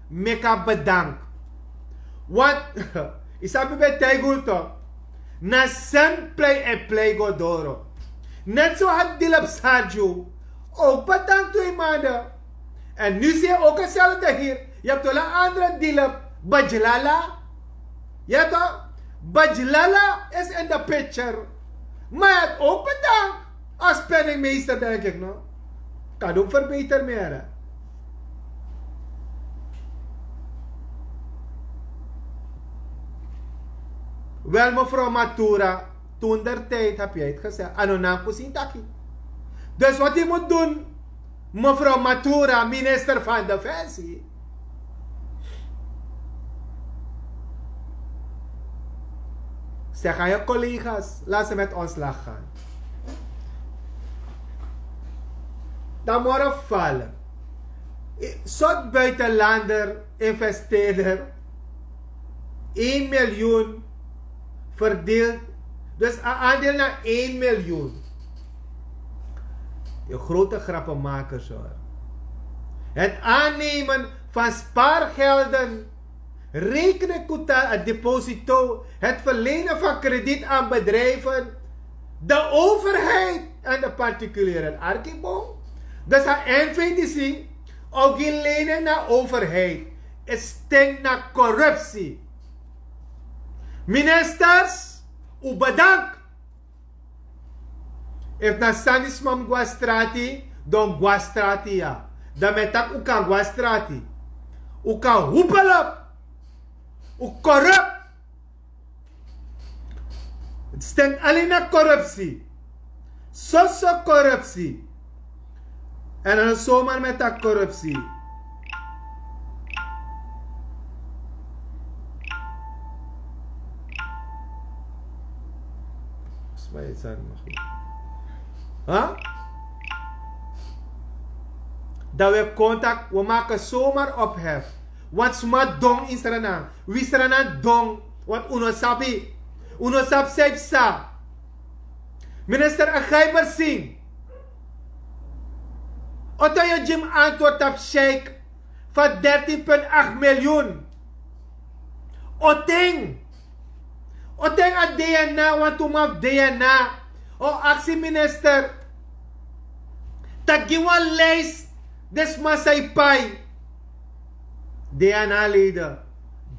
meki a bedank. Want yu sabi ben taigi unu tok, na san plei en plei go doro. Net so a Dilep Sarju ook bedank twee maanden. En nu zie je ook hetzelfde hier. Je hebt wel een andere Dilep, Bajlala. Ja toch? Bajlala is in de picture. Maar je hebt ook bedankt als penningmeester, denk ik, no? Kan ook verbeterd meer. Wel, mevrouw Matura, toen der tijd heb jij het gezegd. Ano nan kusin taki. Dus wat je moet doen, mevrouw Matura, minister van Defensie, zeg aan je collega's, laat ze met ontslag gaan. Dan morgen vallen. Sort buitenlander, investeerder, één miljoen verdeeld. Dus een aandeel naar één miljoen. Je grote grappenmakers, hoor. Het aannemen van spaargelden, rekening, kuta, het deposito, het verlenen van krediet aan bedrijven, de overheid en de particulieren. Arkibo. Dus a N V D C, ook geen lenen naar overheid. Het stinkt naar corruptie. Ministers, u bedankt. Efu na sani sma mus go na strati, dan go na strati, ya. Dan mi e taki un kan go na strati. Un kan hupel op. Un corrupt. Het stinkt alleen naar corruptie. Soso corruptie. En dan zomaar met dat corruptie. Volgens mij is dat maar goed. Huh? Dat we contact, we maken zomaar ophef. Want sma don in Sranan. Wi Sranan don. Want un no sabi. Un no sabi san yu sa. Minister Agaibersin. Oto yu gi mi antwoord tapu sheik van dertien punt acht miljoen. Oten. Oten a D N A, want un man fu D N A. O aksi minister. Taki wan lijst. Den sma san yu pai. D N A-leden.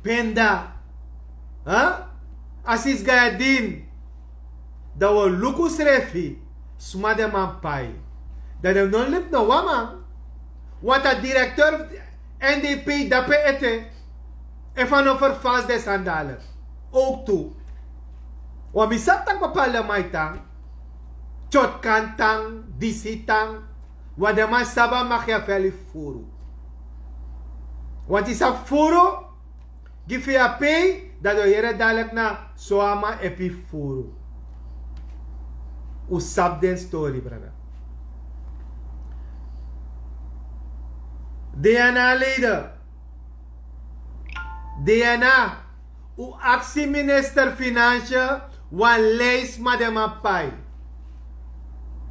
Benda. Huh? Asis Gayadin. Dan wi o luku srefi. Sma den man pai. Dan den no libi no wan man. Want a directeur N D P dape ete. Efu a no vervals den sani dalik. Ook tu. Want mi sabi taki bepaalde man e tan. Tyotkan tan, disi tan. Want den man sabi a Machiavelli furu. Want yu sabi furu, gi fi a pei, dan yu o yere dalik na so a man e pei furu. Un sabi den story, brada. D N A-leden. D N A, un aksi minister Financiën wan lijst sma den man pai.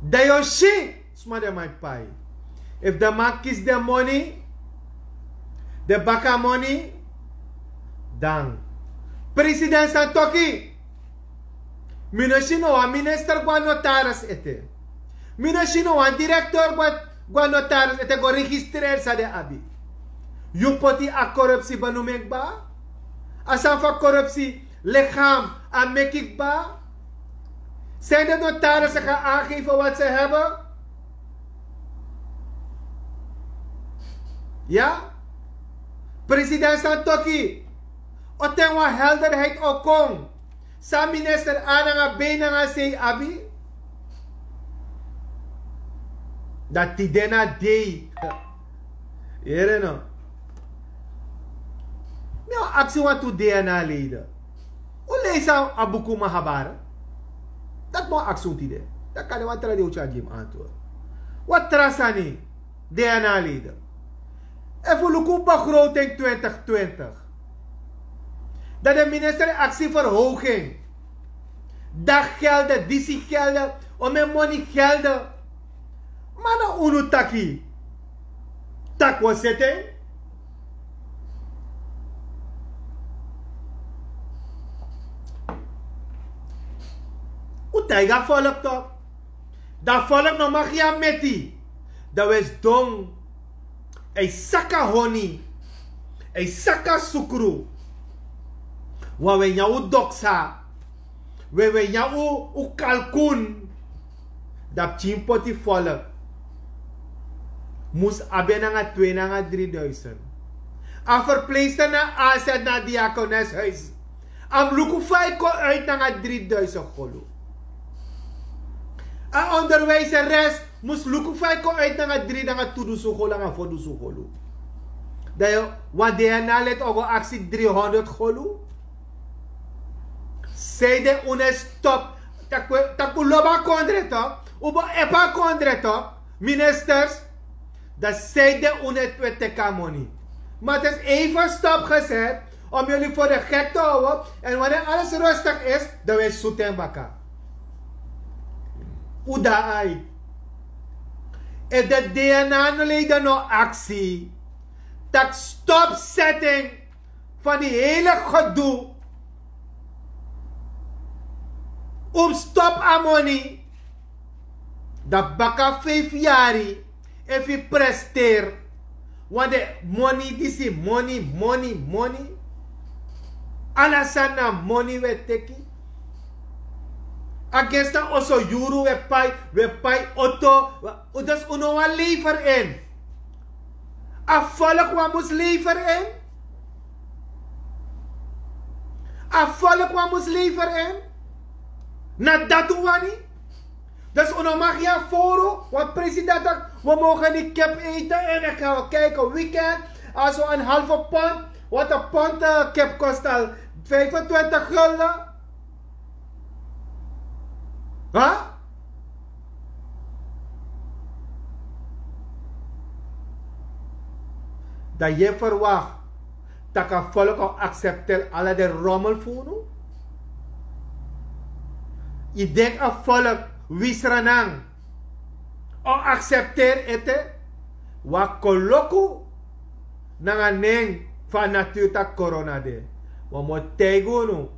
Dan yu o si sma den man pai. Efu den man kisi den moni, den baka moni, dan. President Santoki, mi no si no wan minister go na notaris ete. Mi no si no wan directeur go na, go na notaris ete go registreer san den abi. Yu poti a corruptie benoeming kba. A sani fu a corruptie lichaam a meki kba. Zijn de notarissen gaan aangeven wat ze hebben? Ja? President Santoki, o ten wan helderheid o kon. San minister A nanga B nanga C abi? Dan tide na dei. Yere no? Mi o aksi wantu D N A-leden. Un leisi a buku Mahabharata? Dati mi o aksi un tide. Dan kan den wan tra di o tyari gi mi antwoord. Wat tra sani, DNA-leden. Efu luku begroting twintig twintig, dan de minister e aksi verhoging. Daggelde, disi gelde, omen moni gelde. Ma na unu taki, taki wi o seti en. Un taigi a volk tok. Dan volk no mag gi a meti. Dan wi e sidon, e saka honi, e saka sukru. Wan wi e nyan un doksa, wi e nyan un kalkun. Dan pikin poti volk mus abi en nanga twee nanga dri duisend. A verpleegster na a zet na diakoneshuis. A mus luku fa a e kon uit nanga dri duisend golu. A onderwijzeres mus luku fa a e kon uit nanga dri nanga tu dusun golu nanga fo dusun golu. Dan yu wan DNA-lid o go aksi dri honderd golu. Sei de un e stop. Taki un lobi a kondre tok, un bo epi a kondre tok, ministers. Dan sei de un e twe teki a moni. Ma het is even stopgezet om jullie voor de gek te houden. En wanneer alles rustig is, dan wi e sutu en baka. Un dan ai. Efu de DNA-leden no aksi, taki stopsetting van die hele gedoe. Un stop a moni. Dan baka vijf yari, efu yu presteer. Want de moni disi, moni, moni, moni. Ala sani na moni wi e teki. A gesta oso yuru wi e pai, wi e pai oto. Dus un no wani lever in. A volk wan mus lever in. A volk wan mus lever in. Na dati un wani. Dus un no mag gi a foro wan president taki wi mogen niet kip eten en ik ga kijken weekend. Als we een halve pond, wat een pond eh, kip kost al vijfentwintig gulden. Ha? Dan yu e verwakti tak' a volk o aksepteri ala den rommel fu unu? Yu denki a volk wi Sranan o aksepteri ete? Wi a koloku nanga nen fu a naturu tak' korona de. Ma mi o taigi unu,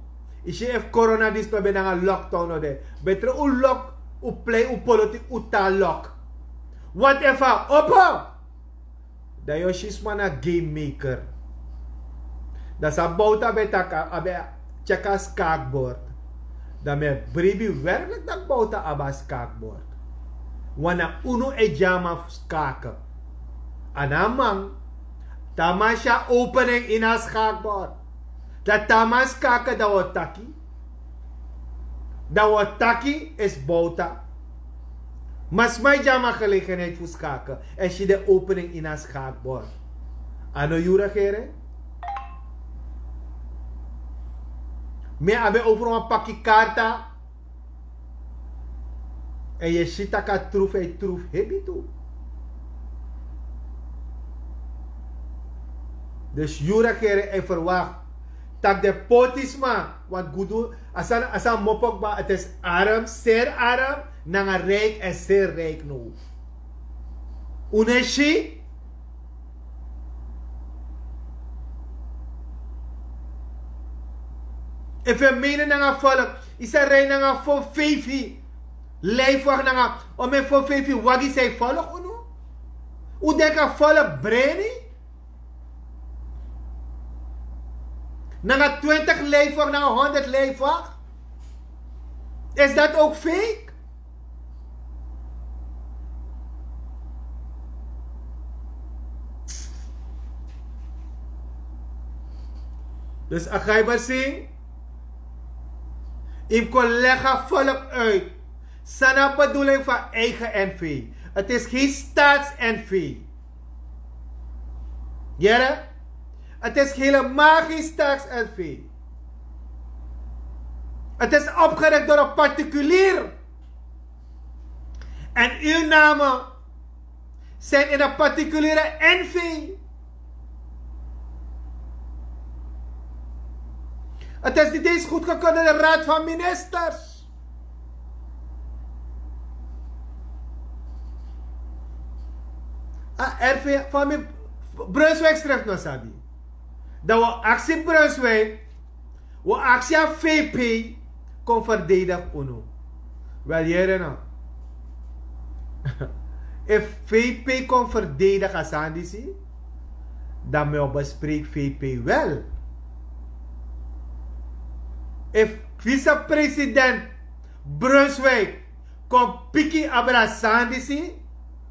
yu si efu korona disi no ben nanga lockdown no de, betre un lok, un plei un politik un tan lok. Want efu a opo, dan yu o si sma na game maker. Dan san Bouta ben taki, a ben tyeki a skaakbord. Dan mi e bribi werklik tak' Bouta abi a skaakbord. Want na unu e gi a man fu skaken. A no a man. Te a man si a opening ini a skaakbord, dan te a man skaken dan wi o taki. Dan wi o taki esi Bouta. Ma sma e gi a man gelegenheid fu skaken èn si den opening ini a skaakbord. A no yu regering? Mi abi en over wan paki karta. Èn yu e si tak' a troef, a e troef hebi tu. Dus yu regering e verwakti tak' den pôtisma, want gudu, a sani, a sani mopo kba, het is arm, zeer arm, nanga rijk en zeer rijk now. Un no e si? Efu yu e mene nanga volk, yu sa rij nanga fo feifi lijfwag nanga, o men fo feifi wagi san e volg unu? Un denki a volk breni? Nanga twintig lijfwag, nanga honderd lijfwag. Is dat ook fake? Dus a gaiber sing, yu mus kon leg a volk uit san na bedoeling van eigen N V. Het is geen staats-N V. Yere? Het is helemaal geen staats-N V. Het is opgericht door een particulier. En uw namen Zijn in een particuliere N V. Het is niet eens goedgekeurd door de Raad van Ministers. A R V van mi, Brunswijk schrijft no sabi. Dan we actie Brunswijk. We actie aan V P kon verdedig unu. Wel, hier en nou. If V P kon verdedig a sani disi, dan mi o bespreek V P wel. If vicepresident Brunswijk kon piki abra sani disi,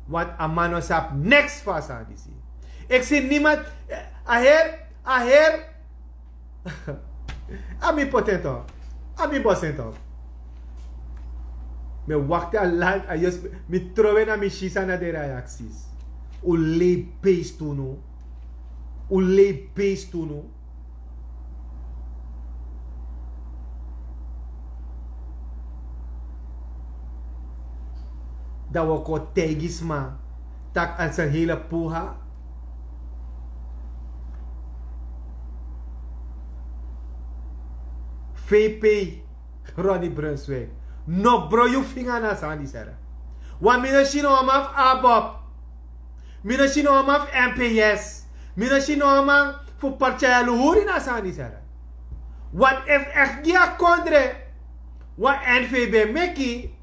want a man no sabi niks van a sani disi. Ik zie niemand, a heer, a heer, a mi poten tok, a mi bosen tok. Mi wakti a lang, a yus, mi trowe na mi sisa na de reacties. Un lei beest unu. Un lei beest unu. Dan we kon taigi sma tak' a is een hele poha. V P, Ronnie Brunswijk. No bro, yu finga na sani sera. Want mi no si no man fu ABOP. Mi no si no man fu M P S. Mi no si no man fu partij Luhuri na sani sera. Want if echt gi a kondre, wan N V B meki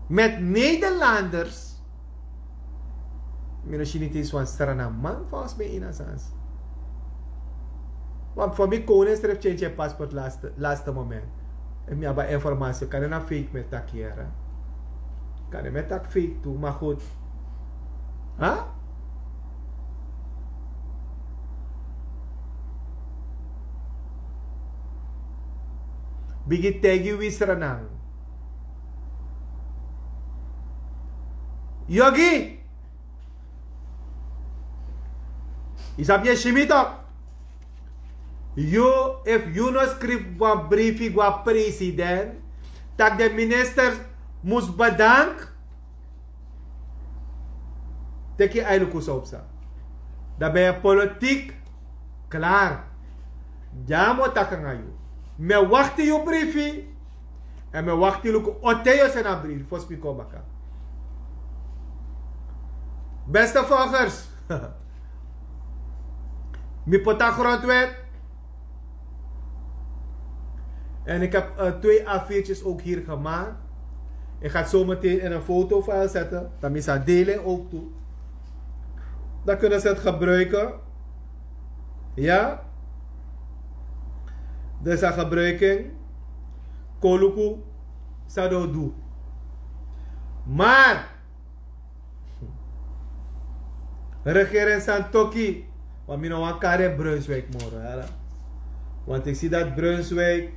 met Nederlanders. Mi no si niet eens wan Sranan man volgens mij in a sans. Want voor mi koning strip change je paspoort laatste, laatste moment. En mi aba informatie, kan na fake met tak hier. Kan er met tak fake toe, maar goed. Huh? Bigi tegi wisra nang. Yogi. Isap ye shimito. Yu, if yu no skrif wan briefi gwa president, tak de minister mus bedank. Teki ailuku sopsa. Dan ben je politiek klaar. Dya mi o taki nanga yu. Mi e wakti yu briefi. En mi e wakti luku ote yu o seni a briefi fosi mi kon baka. Beste volgers. Mi poti a grondwet. En ik heb twee A viertjes ook hier gemaakt. Ik ga het zo meteen in een fotofile zetten. Dan mi sa delen ook toe. Dan kunnen ze het gebruiken. Ja. Dus a gebruiking. Koluku. San den o du. Maar Regering Santoki. Want mi no wan kari Brunswijk moro, hè. Want ik zie dat Brunswijk,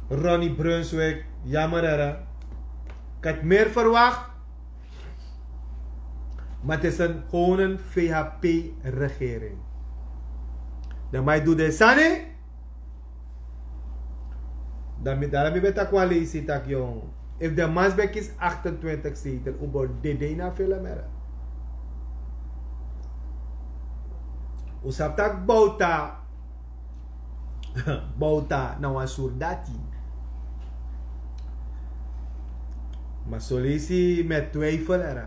Ronnie Brunswijk, jammer, hè. Ik had meer verwacht. Maar het is een, gewoon een V H P-regering. De man doet de sani. Dan mi dara mi ben taki wan leisi taki, yon. Efu den man ben kisi achtentwintig zetel, un bo dede ini a film, hè. Un sabi taki Bouta, Bouta na wan surdati. Ma son leisi mi e twijfel, hè.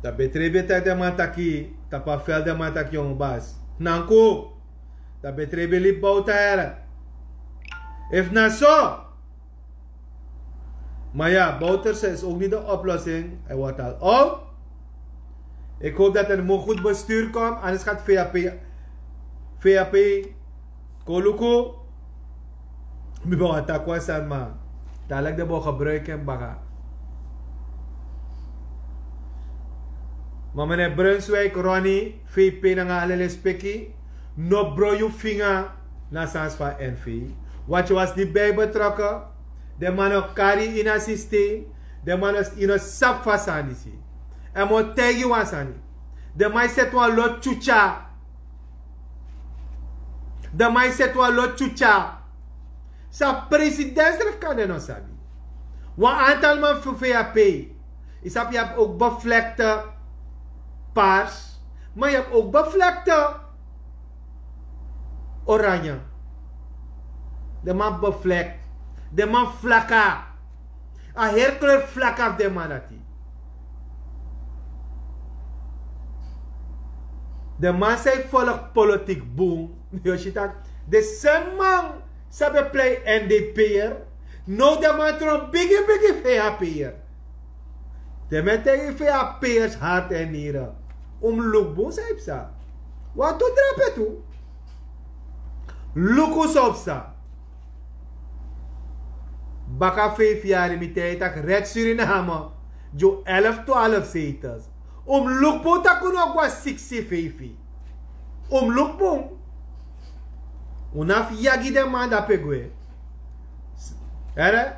Dan Betrebi e taki den man taki, tapu a veld den man taki, yon bas. Nanku. Dan Betrebi e libi Bouta, hè. Efu na so. Maar ja, Bouterse is ook niet de oplossing. Hij wordt al oud. Ik hoop dat er een goed bestuur komt. Anders gaat V H P, V H P, Koluku. Mi ben wani taki wan sani, ma dadelijk den bo gebruik en baka. Maar meneer Brunswijk, Ronnie, V P nanga alle respeki, no bro yu finga na sans van N V. Want yu was niet bij betrokken. Den man no kari yu ini a systeem. Den man no, yu no sabi fu a sani disi. En mi o taigi yu wan sani. Den man e seti wan lot tyutya. Den man e seti wan lot tyutya. San president srefi kan den no sabi. Wan aantal man fu vap. Yu sabi yu abi ook bevlekte paars, maar yu abi ook bevlekte oranje. De man bevlekt, de man flaka. A heri kleur flaka fu de man dati. De man san yu volg politik bun, yu o si tak' de semi man san ben plei n d p er, now de man tron bigi bigi vap er. Den men taigi vap ers hart en nieren. Un mus luku bun san yu psa. Wantu drape tu. Luku san psa. Baka feifi yari mi taigi tak' red suriname gi un elf twaalf zetels. Un mus luku bun tak' un no go na siksi feifi. Un mus luku bun. Un no abi yagi den man dape gwe. Here,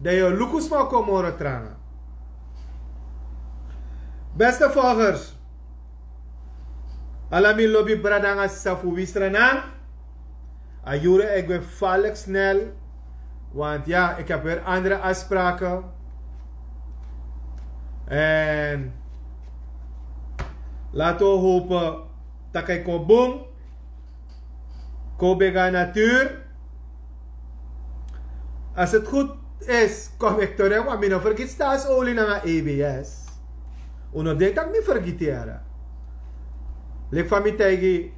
dan yu o luku sma o kon moro tranga. Beste volgers, ala mi lobi brada nanga sisa fu wisra nan. A yuru e gwe falik snel. Want ya ik heb weer andere afspraken. En laten we hopen dat hij kon boom. Kobe ga natuur. Als het goed is, kom ik terug, want mi no vergiti staatsolie nanga ebs. Un no denk dat mi vergiti yara. Lik van mi taigi,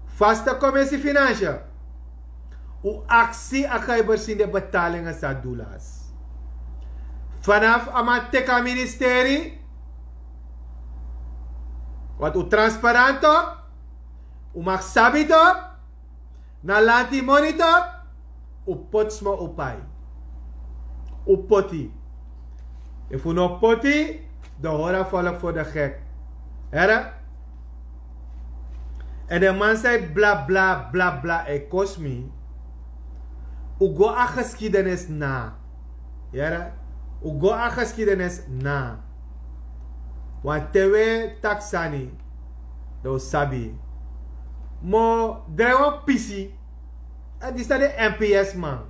vaste commissie financiën. Un aksi a gaiber sin de betalingen sa dulas. Vanaf a man teki a ministeri, want un transparant tok, un mag sabi tok. Na lanti moni tok. Un poti sma un pai. Un poti. Efu un no poti, dan hori a volk voor de gek. Here. En de man san e bla bla bla bla e kosi mi. Un go a geschiedenis na. Here. Un go a geschiedenis na. Want te un e taki sani, dan un sabi. Ma drai wan pisi. En disi na de mps man.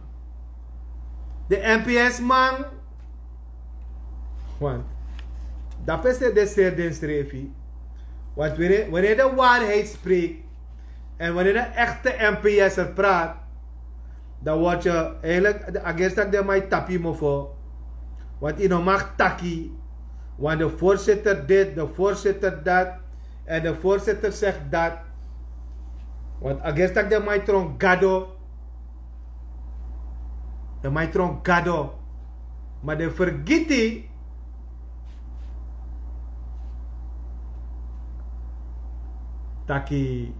De mps man. Want dape seri den seri den srefi. Want wanneer de waarheid spreekt en wanneer de echte mps er praat, dan word je eigenlijk de agerstak de mai tapi mofo. Want yu no mag taki. Want de voorzitter dit, de voorzitter dat. En de voorzitter zegt dat. Want agerstak de mai tron gado. De mai tron gado. Maar de vergiti taki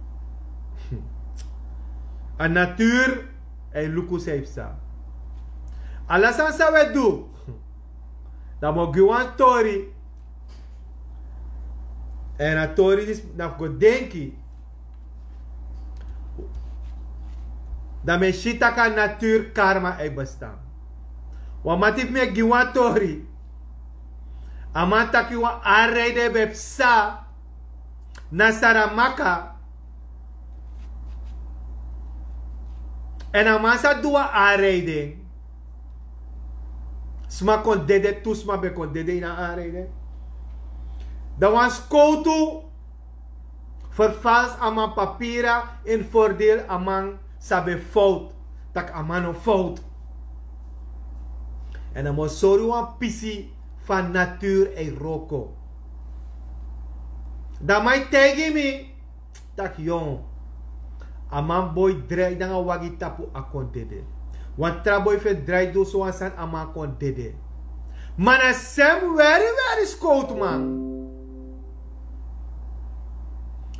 a natuur. En luku san yu psa. Ala sani san un e du, dan mi o gi wan tori. En a tori disi na fu go denki. Dan mi e si tak' a natuur karma e bestaan. Wan mati fu mi e gi wan tori. A man taki wan ari ride ben psa na Saramaka. En a man sa du wan ari ride. Sma kon dede, tu sma ben kon dede ini a ari ride. Dan wan skowtu vervals a man papira in voordeel a man sa ben fout. Tak' a man no fout. En a man sori wan pisi fan natuur e wroko. Dan man e taigi mi tak' yon, a man boi drai nanga wagi tapu a kon dede. Wan tra boi fu en drai du so wan sani a man kon dede. Ma na semi weri weri skowtu man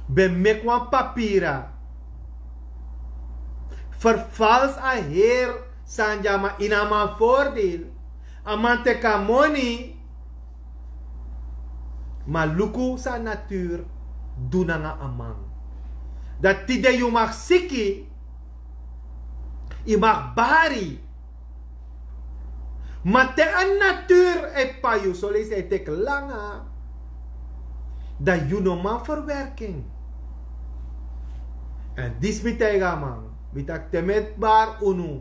ben meki wan papira, vervals a heri sani di a man ini a man voordeel. A man teki a moni. Ma luku san natuur du nanga a man. Dan tide yu mag siki, yu mag bari. Ma te a natuur e pai yu soleisi e teki langa, dan yu no man verwerking. En disi mi taigi a man, mi taki te mi e bari unu,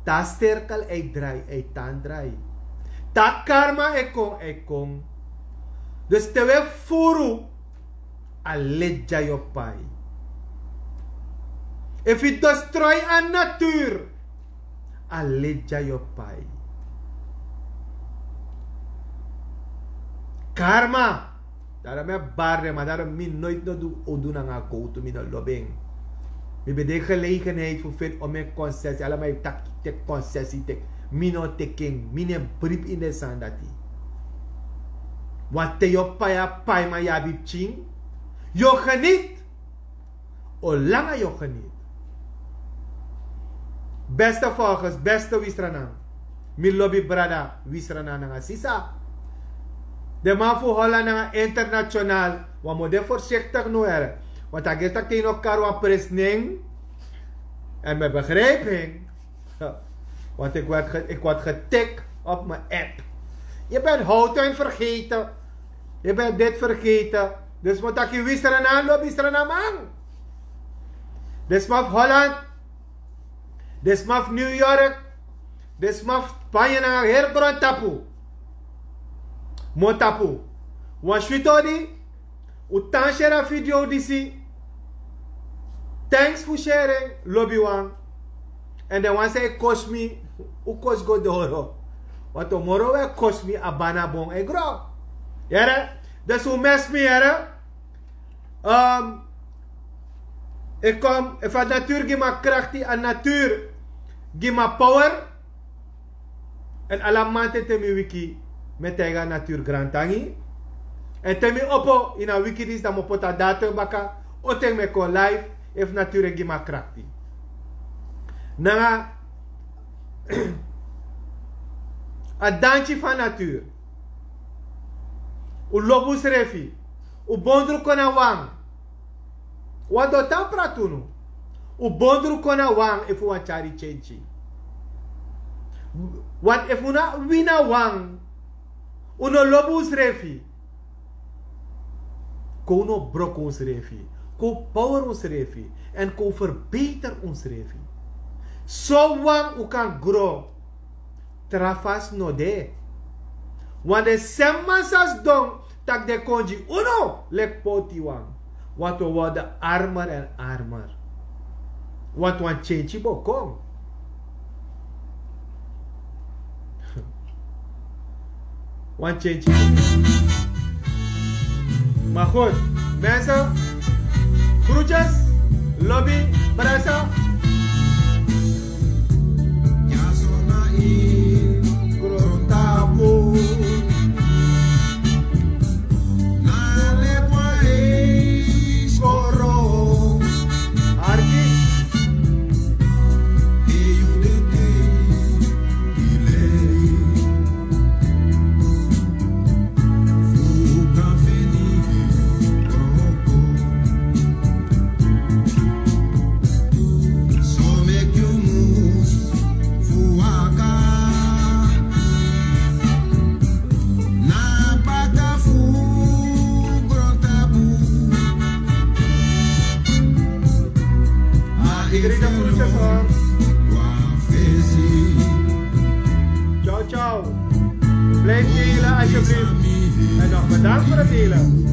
Te a sirkel e drai, e tan drai. Te a karma e kon, e kon. Dus te wi e furu, a leti dya yu o pai. Efu yu destroy a natuur, a leti dya yu o pai. Karma. Daarom mi e bari den, ma daarom mi noiti no du udu nanga gowtu, mi no lobi en. Mi ben de gelegenheid fu feni omeni konsesi, ala man e taki teki konsesi, teki. Mi no teki en, mi no e bribi ini den sani dati. Want te yu o pai a paiman, yu abi pikin, yu o geniet. O langa yu o geniet. Beste volgers, beste Wisranan. Mi lobi brada Wisranan nanga sisa. Den man fu Holland nanga international. Wan mu de voorzichtig no here. Want a geri taki te yu no kari wan presi nen. En mi begrijp en. Want ik word, ge, ik word getik op mijn app. Je bent houttuin vergeten. Je bent dit vergeten. Dus mi taki Wisranan lobi Sranaman. Den sma fu Holland. Den sma fu New York. Den sma fu Spanje nanga heri grontapu. Mi o tapu. Wan switi odi. Un tan share a video disi. Thanks fu share en, lobiwan. En den wan san e kosi mi, un kosi go doro. Want tomorrow un e kosi mi, a banabon e gro. Yere? Dus un mesi mi, yere. Ehm, ik kom, efu a natuur gi mi a krakti, a natuur gi mi a power. En ala mamanten te mi wiki, mi e taigi a natuur grantangi. En te mi opo ini a wiki disi, dan mi o poti a datum baka, on ten mi e kon live, efu natuur e gi mi a krakti. Nanga a danki fu a natuur. Un lobi unsrefi. Un bondru kon na wan. Wan doti a prati unu. Un bondru kon na wan efu wan tyari kenki. Want efu un no wini na wan, un no lobi unsrefi. Kon un no broko unsrefi. Kon un power unsrefi. En kon un verbeter unsrefi. So wan un kan gro. Tra fasi no de. Want den sma san sidon taki den kon gi unu leki potiwan. Want wi worden armer en armer. Want wan kenki bo kon. Wan kenki bo kon. Maar goed, mensen, groetjes, lobi, brasa. Iedereen dat groetjes hoor. Ciao, ciao. Blijf delen alsjeblieft. En nog bedankt voor het delen.